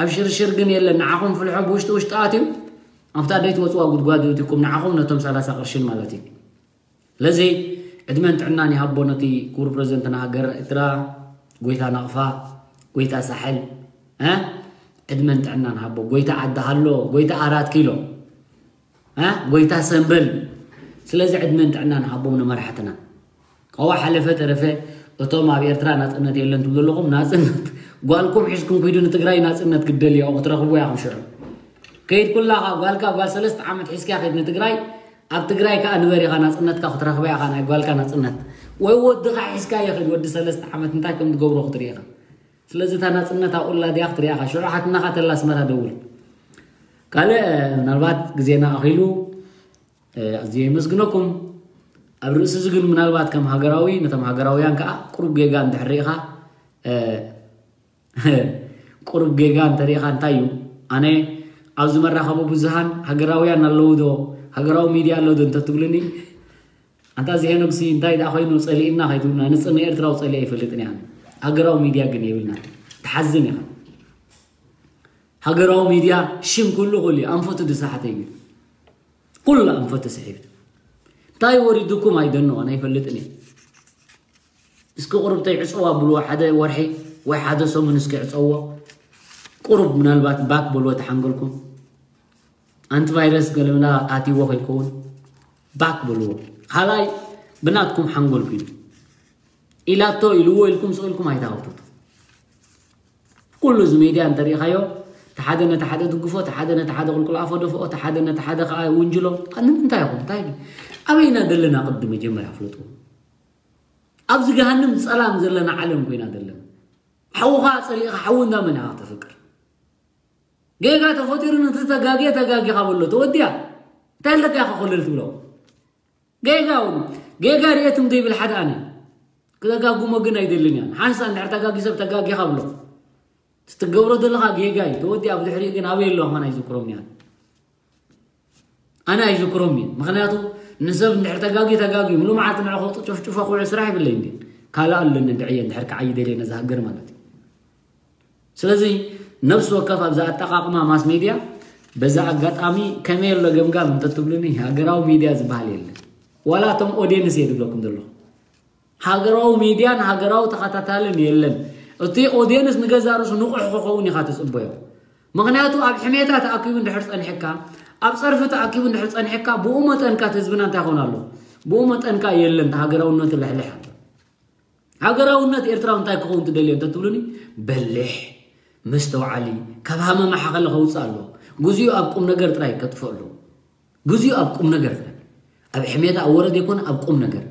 ኣብ ሽርሽር ግን የለን ንዓኹም ፍልሖ ብውሽጢ ውሽጢ ኣትዩ ኣብታ ደይትወፅዋ ጉድጓድ ይእትኩም ንዓኹም ነቶም ሰላሳ ቅርሽን ማለት እዩ። ስለዚ ዕድመን ጥዕናን ይሃቦ ነቲ ክቡር ፕረዚደንትና ሃገር ኤርትራ ጎይታ ናቕፋ ጎይታ ሳሕል እ ዕድመን ጥዕናን ሃቦ ጎይታ ዓዲ ሃሎ ጎይታ ኣራት ኪሎ እ ጎይታ ሰንበል። ስለዚ ዕድመን ጥዕናን ሃቦም ንመራሕትና። ከዋ ሓለፈ ተረፈ እቶም ኣብ ኤርትራ ናጽነት የለን ትብሉ ኣለኹም። ናጽነት ጓልኩም ሒዝኩም ክይዱ ንትግራይ ናጽነት ክትደልዩ ክትረኽቡ ኢኹም። ሽዑ ከይድ ኩላኻ ጓልካ ጓል ሰለስተ ዓመት ሒዝካ ከይድ ንትግራይ። ኣብ ትግራይ ከኣ ንበር ኢኻ ናጽነትካ ክትረኽባ ኢኻ፣ ናይ ጓልካ ናጽነት። ወይ ወድኻ ሒዝካ ይኽድ ወዲ ሰለስተ ዓመት እንታይ ከም ትገብሮ ክትርኢ ኢኻ። ስለዚ እታ ናጽነት ኣብኡ ኣላ ድያ ክትሪኣ ኢኻ። ሽዑ ሓትናኻ ተላ ኣስመራ ደውል። ካልእ ምናልባት ግዜና ኣኺሉ ኣዝየ የመስግነኩም። ኣብ ርእሲ እዚ ግን ምናልባት ከም ሃገራዊ ነቶም ሃገራውያን ከዓ ቁሩብ ጌጋ እንድሕር ርኢኻ ቁሩብ ጌጋ እንተሪኢኻ እንታይ እዩ? ኣነ ኣብዚ መራኸቢ ብዙሃን ሃገራውያን ኣለዉ ዶ ሃገራዊ ሚድያ ኣሎ ዶ እንተትብሉኒ ኣንታ እዚ ሄኖግሲ እንታይ ደኣ ኮይኑ ጸሊእና ከይትብሉና ንጽን ኤርትራዊ ጸሊእ ኣይፈልጥን እያ። ሃገራዊ ሚድያ ግን የብልና። ትሓዝን ኢኻ። ሃገራዊ ሚድያ ሽም ኩሉ ኩሉ እዩ። ኣንፈቱ ድሳሓተ እዩ። ኩሉ ኣንፈቱ ስሒብ። እንታይ ወሪዱኩም ኣይደንቆን ኣይፈልጥን እዩ። እስኪ ቁሩብ ተይዕፀዋ ብልዎ ሓደ ወርሒ ወይ ሓደ ሰሙን እስኪ ዕፀዎ። ቁሩብ ምናልባት ባክ በልዎ ተሓንገልኩም። ኣንቲቫይረስ ገለምና ኣትይዎ ከይከውን ባክ በልዎ። ካልኣይ ብናትኩም ሓንጎል ኩኑ ኢላቶ ኢልዎ ኢልኩም ስቕ ኢልኩም ኣይተሃውቱት። ኩሉ እዚ ሜድያ እንተሪኢኻዮ ተሓደ ነቲ ሓደ ድግፎ፣ ተሓደ ነቲ ሓደ ቁልቁል ኣፎ ደፍኦ፣ ተሓደ ነቲ ሓደ ከዓ ውንጅሎ። ንምንታይ ኢኹም እንታይ ኣበይና ዘለና ቅዲ መጀመርያ ፍለጡ። ኣብዚ ገሃንም ፀላም ዘለና ዓለም ኮይና ዘለና ሓውኻ ፀሊእኻ ሓዊ እንዳመን ኢኻ ተፍቅር ጌጋ ተፈጢሩ ነቲ ተጋግየ ተጋጊኻ በሎ ተወዲያ እንታይ ኣለካ ኢኻ ኮለል ትብሎ ጌጋ እውን ጌጋ ርኤትም ዘይብል ሓደ ኣነ ክተጋጉሞ ግን ኣይደልን እያ ሓንሳ እንድሕር ተጋጊ ሰብ ተጋጊኻ ብሎ ትትገብሮ ዘለኻ ጌጋ እዩ ተወዲያ ብድሕሪኡ ግን ኣበይ ኣለኹ መን ኣይዝክሮም እያ ኣነ ኣይዝክሮም እዩ ምክንያቱ ንሰብ እንድሕር ተጋጊ ተጋጊ ምሉ መዓልቲ ንዕኹ ጭፍጭፎ ክውዕ ስራሕ ይብለይ እንዲ ካልእ ኣለኒ እንድዕየ እንድሕር ክዓይ ደልየ ነዚ ሃገር ማለት እዩ ስለዚ ነብሲ ወከፍ ኣብዚ ኣጠቃቅማ ማስ ሜድያ በዛ ኣጋጣሚ ከመይ ኣሎ ገምጋም እንተትብሉኒ ሃገራዊ ሚድያ ዝበሃል የለን ዋላ እቶም ኦድየንስ እየ ዝብለኩም ዘለኹ ሃገራዊ ሚድያን ሃገራዊ ተኸታታልን የለን እቲ ኦድየንስ ንገዛ ርእሱ ንቑሕ ክኸውን ኢኻ ትፅበዮ ምኽንያቱ ኣብ ሕሜታ ተኣኪቡ እንድሕር ፀኒሕካ ኣብ ፀርፊ ተኣኪቡ እንድሕር ፀኒሕካ ብኡ መጠንካ እቲ ህዝብና እንታይ ይኾን ኣሎ ብኡ መጠንካ የለን ሃገራውነቱ ልሕልሕ ኣሎ ሃገራውነት ኤርትራዊ እንታይ ክኸውን ትደልዮ እንተትብሉኒ በሊሕ መስተውዓሊ ካብ ሃመማ ሓኸለ ከውፅእ ኣለዎ ግዚኡ ኣብ ቁም ነገር ጥራይ ከጥፍእ ኣለዎ ግዚኡ ኣብ ቁም ነገር ጥራይ ኣብ ሕሜታ ኣብ ወረ ዘይኮነ ኣብ ቁም ነገር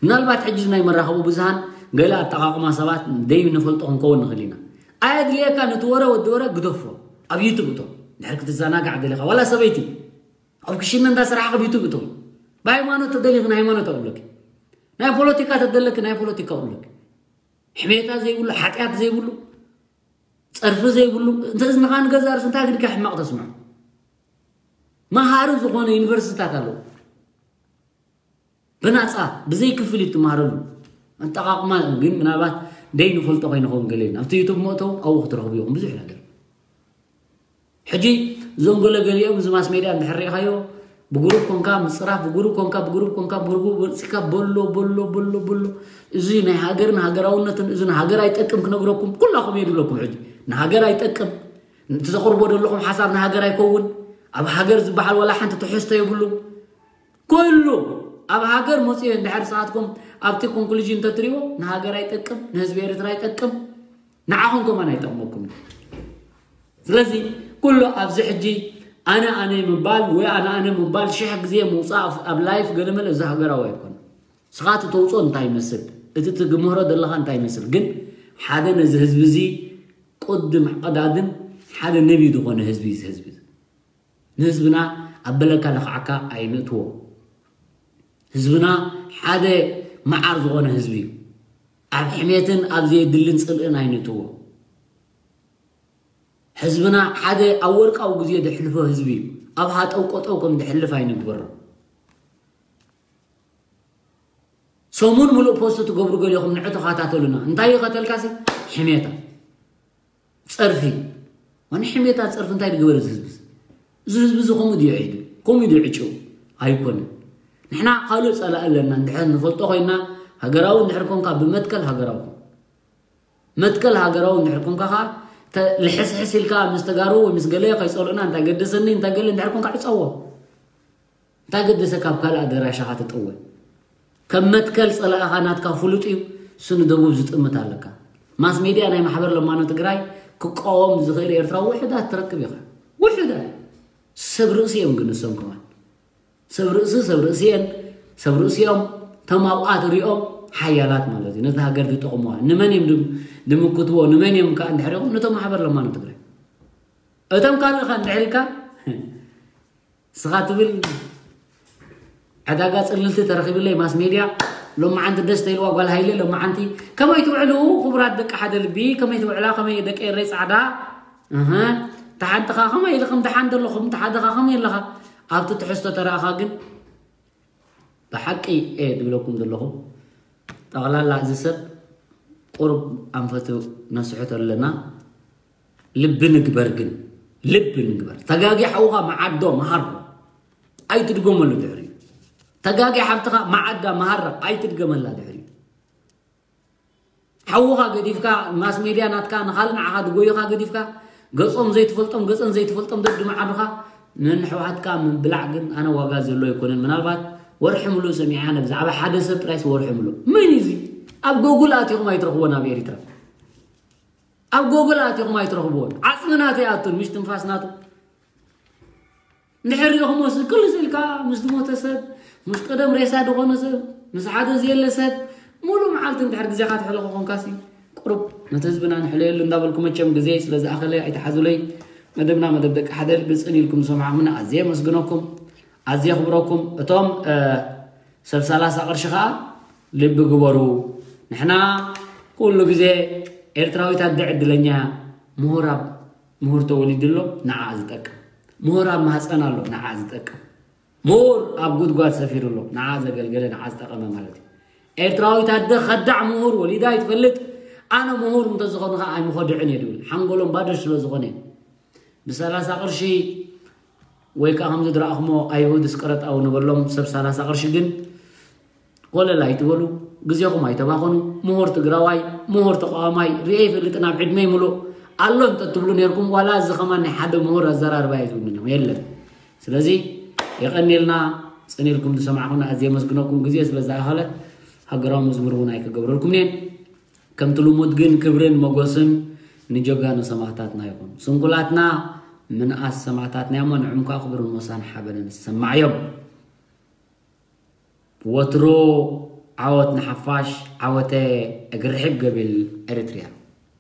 ምናልባት ሕጂ ናይ መራኸቡ ብዙሃን ገለ ኣጠቓቕማ ሰባት ደይ ንፈልጦ ክንከውን ንኽእል ኢና ኣየድልየካ ነቲ ወረ ወዲ ወረ ግደፎ ኣብ ዩቱብ እቶ ድሕር ክትዘናጋዕ ደሊኻ ዋላ ሰበይቲ ኣብ ክሽነ እንዳ ስራሕኻ ኣብ ዩቱብ እቶ ብሃይማኖት ተደሊኽ ንሃይማኖት ኣውለኪ ናይ ፖለቲካ ተደለኪ ናይ ፖለቲካ ውለኪ ሕሜታ ዘይብሉ ሓጢኣት ዘይብሉ ፀርፊ ዘይብሉ እንተ እዝንኻ ንገዛ ርስ እንታይ ግድካ ሕማቕ ተስምዖ መሃሪ ዝኾነ ዩኒቨርሲታት ኣለዉ ብናፃ ብዘይ ክፍል ትመሃረሉ ኣጠቃቅማ ግን ምናልባት ደይ ንፈልጦ ከይንኸውን ገለ ኣብቲ ዩቱብ መእተው ኣብኡ ክትረኽቡ ኢኹም ብዙሕ ነገር ሕጂ እዞም ገለገሊኦም እዚ ማስ ሜድያ እንድሕር ሪኢኻዮ ብግሩፕ ኮንካ ምፅራፍ ብግሩፕ ኮንካ ብግሩፕ ኮንካ ብግሩፕ ወፂካ በሎ በሎ በሎ በሎ እዚ ናይ ሃገርን ሃገራውነትን እዚ ንሃገር ኣይጠቅም ክነግረኩም ኩላኹም እየ ድብለኩም ሕጂ ንሃገር ኣይጠቅም እቲ ዘቕርቦ ዘለኹም ሓሳብ ንሃገር ኣይከውን ኣብ ሃገር ዝበሃል ወላ ሓንቲ ትሕዝቶ የብሉ ኩሉ ኣብ ሃገር መፅዮ እንድሕር ሰዓትኩም ኣብቲ ኮንክሉዥን እንተትሪዎ ንሃገር ኣይጠቅም ንህዝቢ ኤርትራ ኣይጠቅም ንዓኹም ከማን ኣይጠቕመኩም ስለዚ ኩሉ ኣብዚ ሕጂ ኣነ ኣነ ምባል ወይ ኣነ ኣነ ምባል ሽሕ ግዜ ምውፃእ ኣብ ላይፍ ገለመለ እዚ ሃገራዊ ኣይኮነ ስኻ እቲ ተውፅኦ እንታይ ይመስል እቲ ትግምህሮ ዘለኻ እንታይ ይመስል ግን ሓደ ነዚ ህዝቢ እዚ ቅድም ቀዳድም ሓደ ነቢ ዝኾነ ህዝቢ እዚ ህዝቢ ንህዝብና ኣብ በለካ ለኽዓካ ኣይንእትዎ ህዝብና ሓደ መዓር ዝኾነ ህዝቢ እዩ ኣብ ሕሜትን ኣብ ዘየድልን ፅልእን ኣይንእትዎ ህዝብና ሓደ ኣብ ወርቃዊ ግዜ ዘሕልፎ ህዝቢ እዩ ኣብ ሃጠው ቆጠው ከም ዘሕልፍ ኣይንግበሮ ሰሙን ሙሉእ ፖስት ትገብሩ ገሊኹም ንዑ ተኸታተሉና እንታይ ይኸተልካሲ ሕሜታ ፀርፊ ዋን ሕሜታ ፀርፊ እንታይ ዝገበረ እዚ ህዝቢ እዚ ህዝቢ እዚ ከምኡ ድዩ ዒዱ ከምኡ ድዩ ዕጭው ኣይኮነ ንሕና ካልእ ፀላእ ኣለና እንድሕር ንፈልጦ ኮይና ሃገራዊ እንድሕር ኮንካ ብመትከል ሃገራዊ መትከል ሃገራዊ እንድሕር ኮንካ ከዓ ልሕስሕስ ኢልካ ምስ ተጋሩ ወይ ምስ ገለ ከይፀልኡና እንታይ ገደሰኒ እንታይ ገለ እንድሕር ኮንካ ዕፀዎ እንታይ ገደሰ ካብ ካልእ ኣደራሻኻ ትጠወ ከም መትከል ጸላእኻ ናትካ ፍሉጥ እዩ። እሱ ንደቡብ ዝጥምት ኣለካ። ማስ ሜድያ ናይ ማሕበር ለማኖ ትግራይ ክቃወም ዝኽእል ኤርትራዊ ውሑዳት ትረክብ ኢኻ። ውሑዳት። ሰብ ርእሲ እዮም ግን ንሶም ከማን። ሰብ ርእሲ ሰብ ርእሲ እየን። ሰብ ርእሲ እዮም። እቶም ኣብኣ ትሪኦም ሓያላት ማለት እዩ። ነቲ ሃገር ዝጠቕሙዋ። ንመን እዮም ድም- ድምክትዎ? ንመን እዮም ከዓ እንድሕር ኢኹም? ነቶም ማሕበር ለማኖ ትግራይ። እቶም ካልእ ኸ እንድሕር ኢልካ ስኻ ትብል ዕዳጋ ጽልልቲ ተረኺብለይ ማስ ሜድያ። ሎማዓንቲ ደስ ተይልዋ ጓል ሃይለ። ሎማዓንቲ ከመይ ትውዕሉ ክቡራት ደቂ ሓደ ልቢ? ከመይ ትውዕላ? ከመይ ደቂ ኤረይ ጻዕዳ? እህ፣ ተሓድኻ ከመይ ኢልኹም? ተሓን ዘለኹም? ተሓድኻ ከመይ ኣለኻ? ኣብቲ ትሕዝቶ ተረኣኻ ግን ብሓቂ እየ ድብለኩም ዘለኹ። ጠቕላላ እዚ ሰብ ቁሩብ ኣንፈቱ ነስሕቶ ኣለና። ልቢ ንግበር ግን፣ ልቢ ንግበር። ተጋጊ ሓውኻ መዓዶ መሃሮ ኣይትድገመሉ ድሕሪኡ። ተጋጊ ሓብትኻ መዓዳ መሃራ ኣይትድገመላ ድሕሪኡ። ሓውኻ ገዲፍካ፣ ማስ ሜድያ ናትካ ንኻልእ ንዓኻ ድጎዩኻ ገዲፍካ፣ ገጾም ዘይትፈልጦም፣ ገጸን ዘይትፈልጦም ደድመዓዱኻ ንሕወሓትካ ምብላዕ ግን ኣነ ዋጋ ዘሎ ኣይኮነን። ምናልባት ወርሒ ምሉእ ሰሚዓ፣ ብዛዕባ ሓደ ሰብ ጥራይስ ወርሒ ምሉእ። መን እዩ እዚ? ኣብ ጎጉል ኣቲኹም ኣይትረኽቦን ኣብ ኤሪትራ። ኣብ ጎጉል ኣቲኹም ኣይትረኽብዎን። ዓጽሚ ናተይ ኣቱን፣ ምሽ ትንፋስ ናቱ። እንድሕር ሪእኹሞ ስ-፣ ክልስ ኢልካ ምስ ዝሞተ ሰብ፣ ምስ ቀደም ሬሳ ዝኾነ ሰብ፣ ምስ ሓደ ዘየለ ሰብ፣ ሙሉእ መዓልቲ እንድሕር ግዜኻ ተሕልኾ ኮንካሲ፣ ቁሩብ ነቲ ህዝብና ንሕለየሉ እንዳበልኩ፣ መቸም ግዜ ስለ ዝኣኸለ ኣይትሓዙለይ። መደብና መደብ ደቂ ሓደ ልቢ ጽን ኢልኩም ዝሰማዕኹምና ኣዝየ የመስግነኩም፣ ኣዝየ የኽብረኩም። እቶም፣ እ፣ ሰብ ሰላሳ ቅርሺ ኸኣ ልቢ ግበሩ። ንሕና ኩሉ ግዜ ኤርትራዊት ኣደ ዕድለኛ እያ። ምሁር ኣብ ምሁር ተወሊዱ ኣሎ፣ ንዓ ዝጠቅም። ምሁር ኣብ ማህፀን ኣሎ፣ ንዓ ዝጠቅም። ምሁር ኣብ ጉድጓድ ሰፊሩ ኣሎ፣ ንዓ ዘገልገለ፣ ንዓ ዝጠቀመ ማለት እዩ። ኤርትራዊት ኣደ ከዳዕ ምሁር ወሊዳ ኣይትፈልጥ። ኣነ ምሁር እንተዝኾኑ ኸዓ ኣይምኸድዕን እየ ድብል። ሓንጎሎም ባዶ ስለ ዝኾነ። ብሰላሳ ቅርሺ ወይ ከዓ ከምዚ ድረኣኹሞ ኣይሁድ እስቀረጣዊ ንበሎም ሰብ ሰላሳ ቅርሺ ግን ኮለል ኣይትበሉ፣ ግዜኹም ኣይተባኸኑ። ምሁር ትግራዋይ፣ ምሁር ተቃዋማይ ርኤ ይፈልጥን ኣብ ዕድመይ ምሉእ ኣሎ እንተትብሉ ነርኩም፣ ዋላ እዚ ከማን ናይ ሓደ ምሁር ኣዘራርባ እዩ ዝብሉን እዮም። የለን። ስለዚ የቐንየልና፣ ጽን ኢልኩም ዝሰማዕኹና ኣዝየ የመስግነኩም፣ ግዜ ስለ ዝኣኸለ ሃገራዊ መዝሙር እውን ኣይክገብረልኩም እየ። ከምቲ ልሙድ ግን ክብርን ሞገስን ንጀጋኑ ሰማእታትና ይኹን። ስንኩላትና ምንኣስ ሰማእታትና እሞ ንዕም ከዓ ክብርን ሞሳን ሓበንን ዝሰማዕ እዮም። ወትሩ ዓወት ንሓፋሽ፣ ዓወተ እግሪ ሕግ ገቢል ኤሪትሪያ።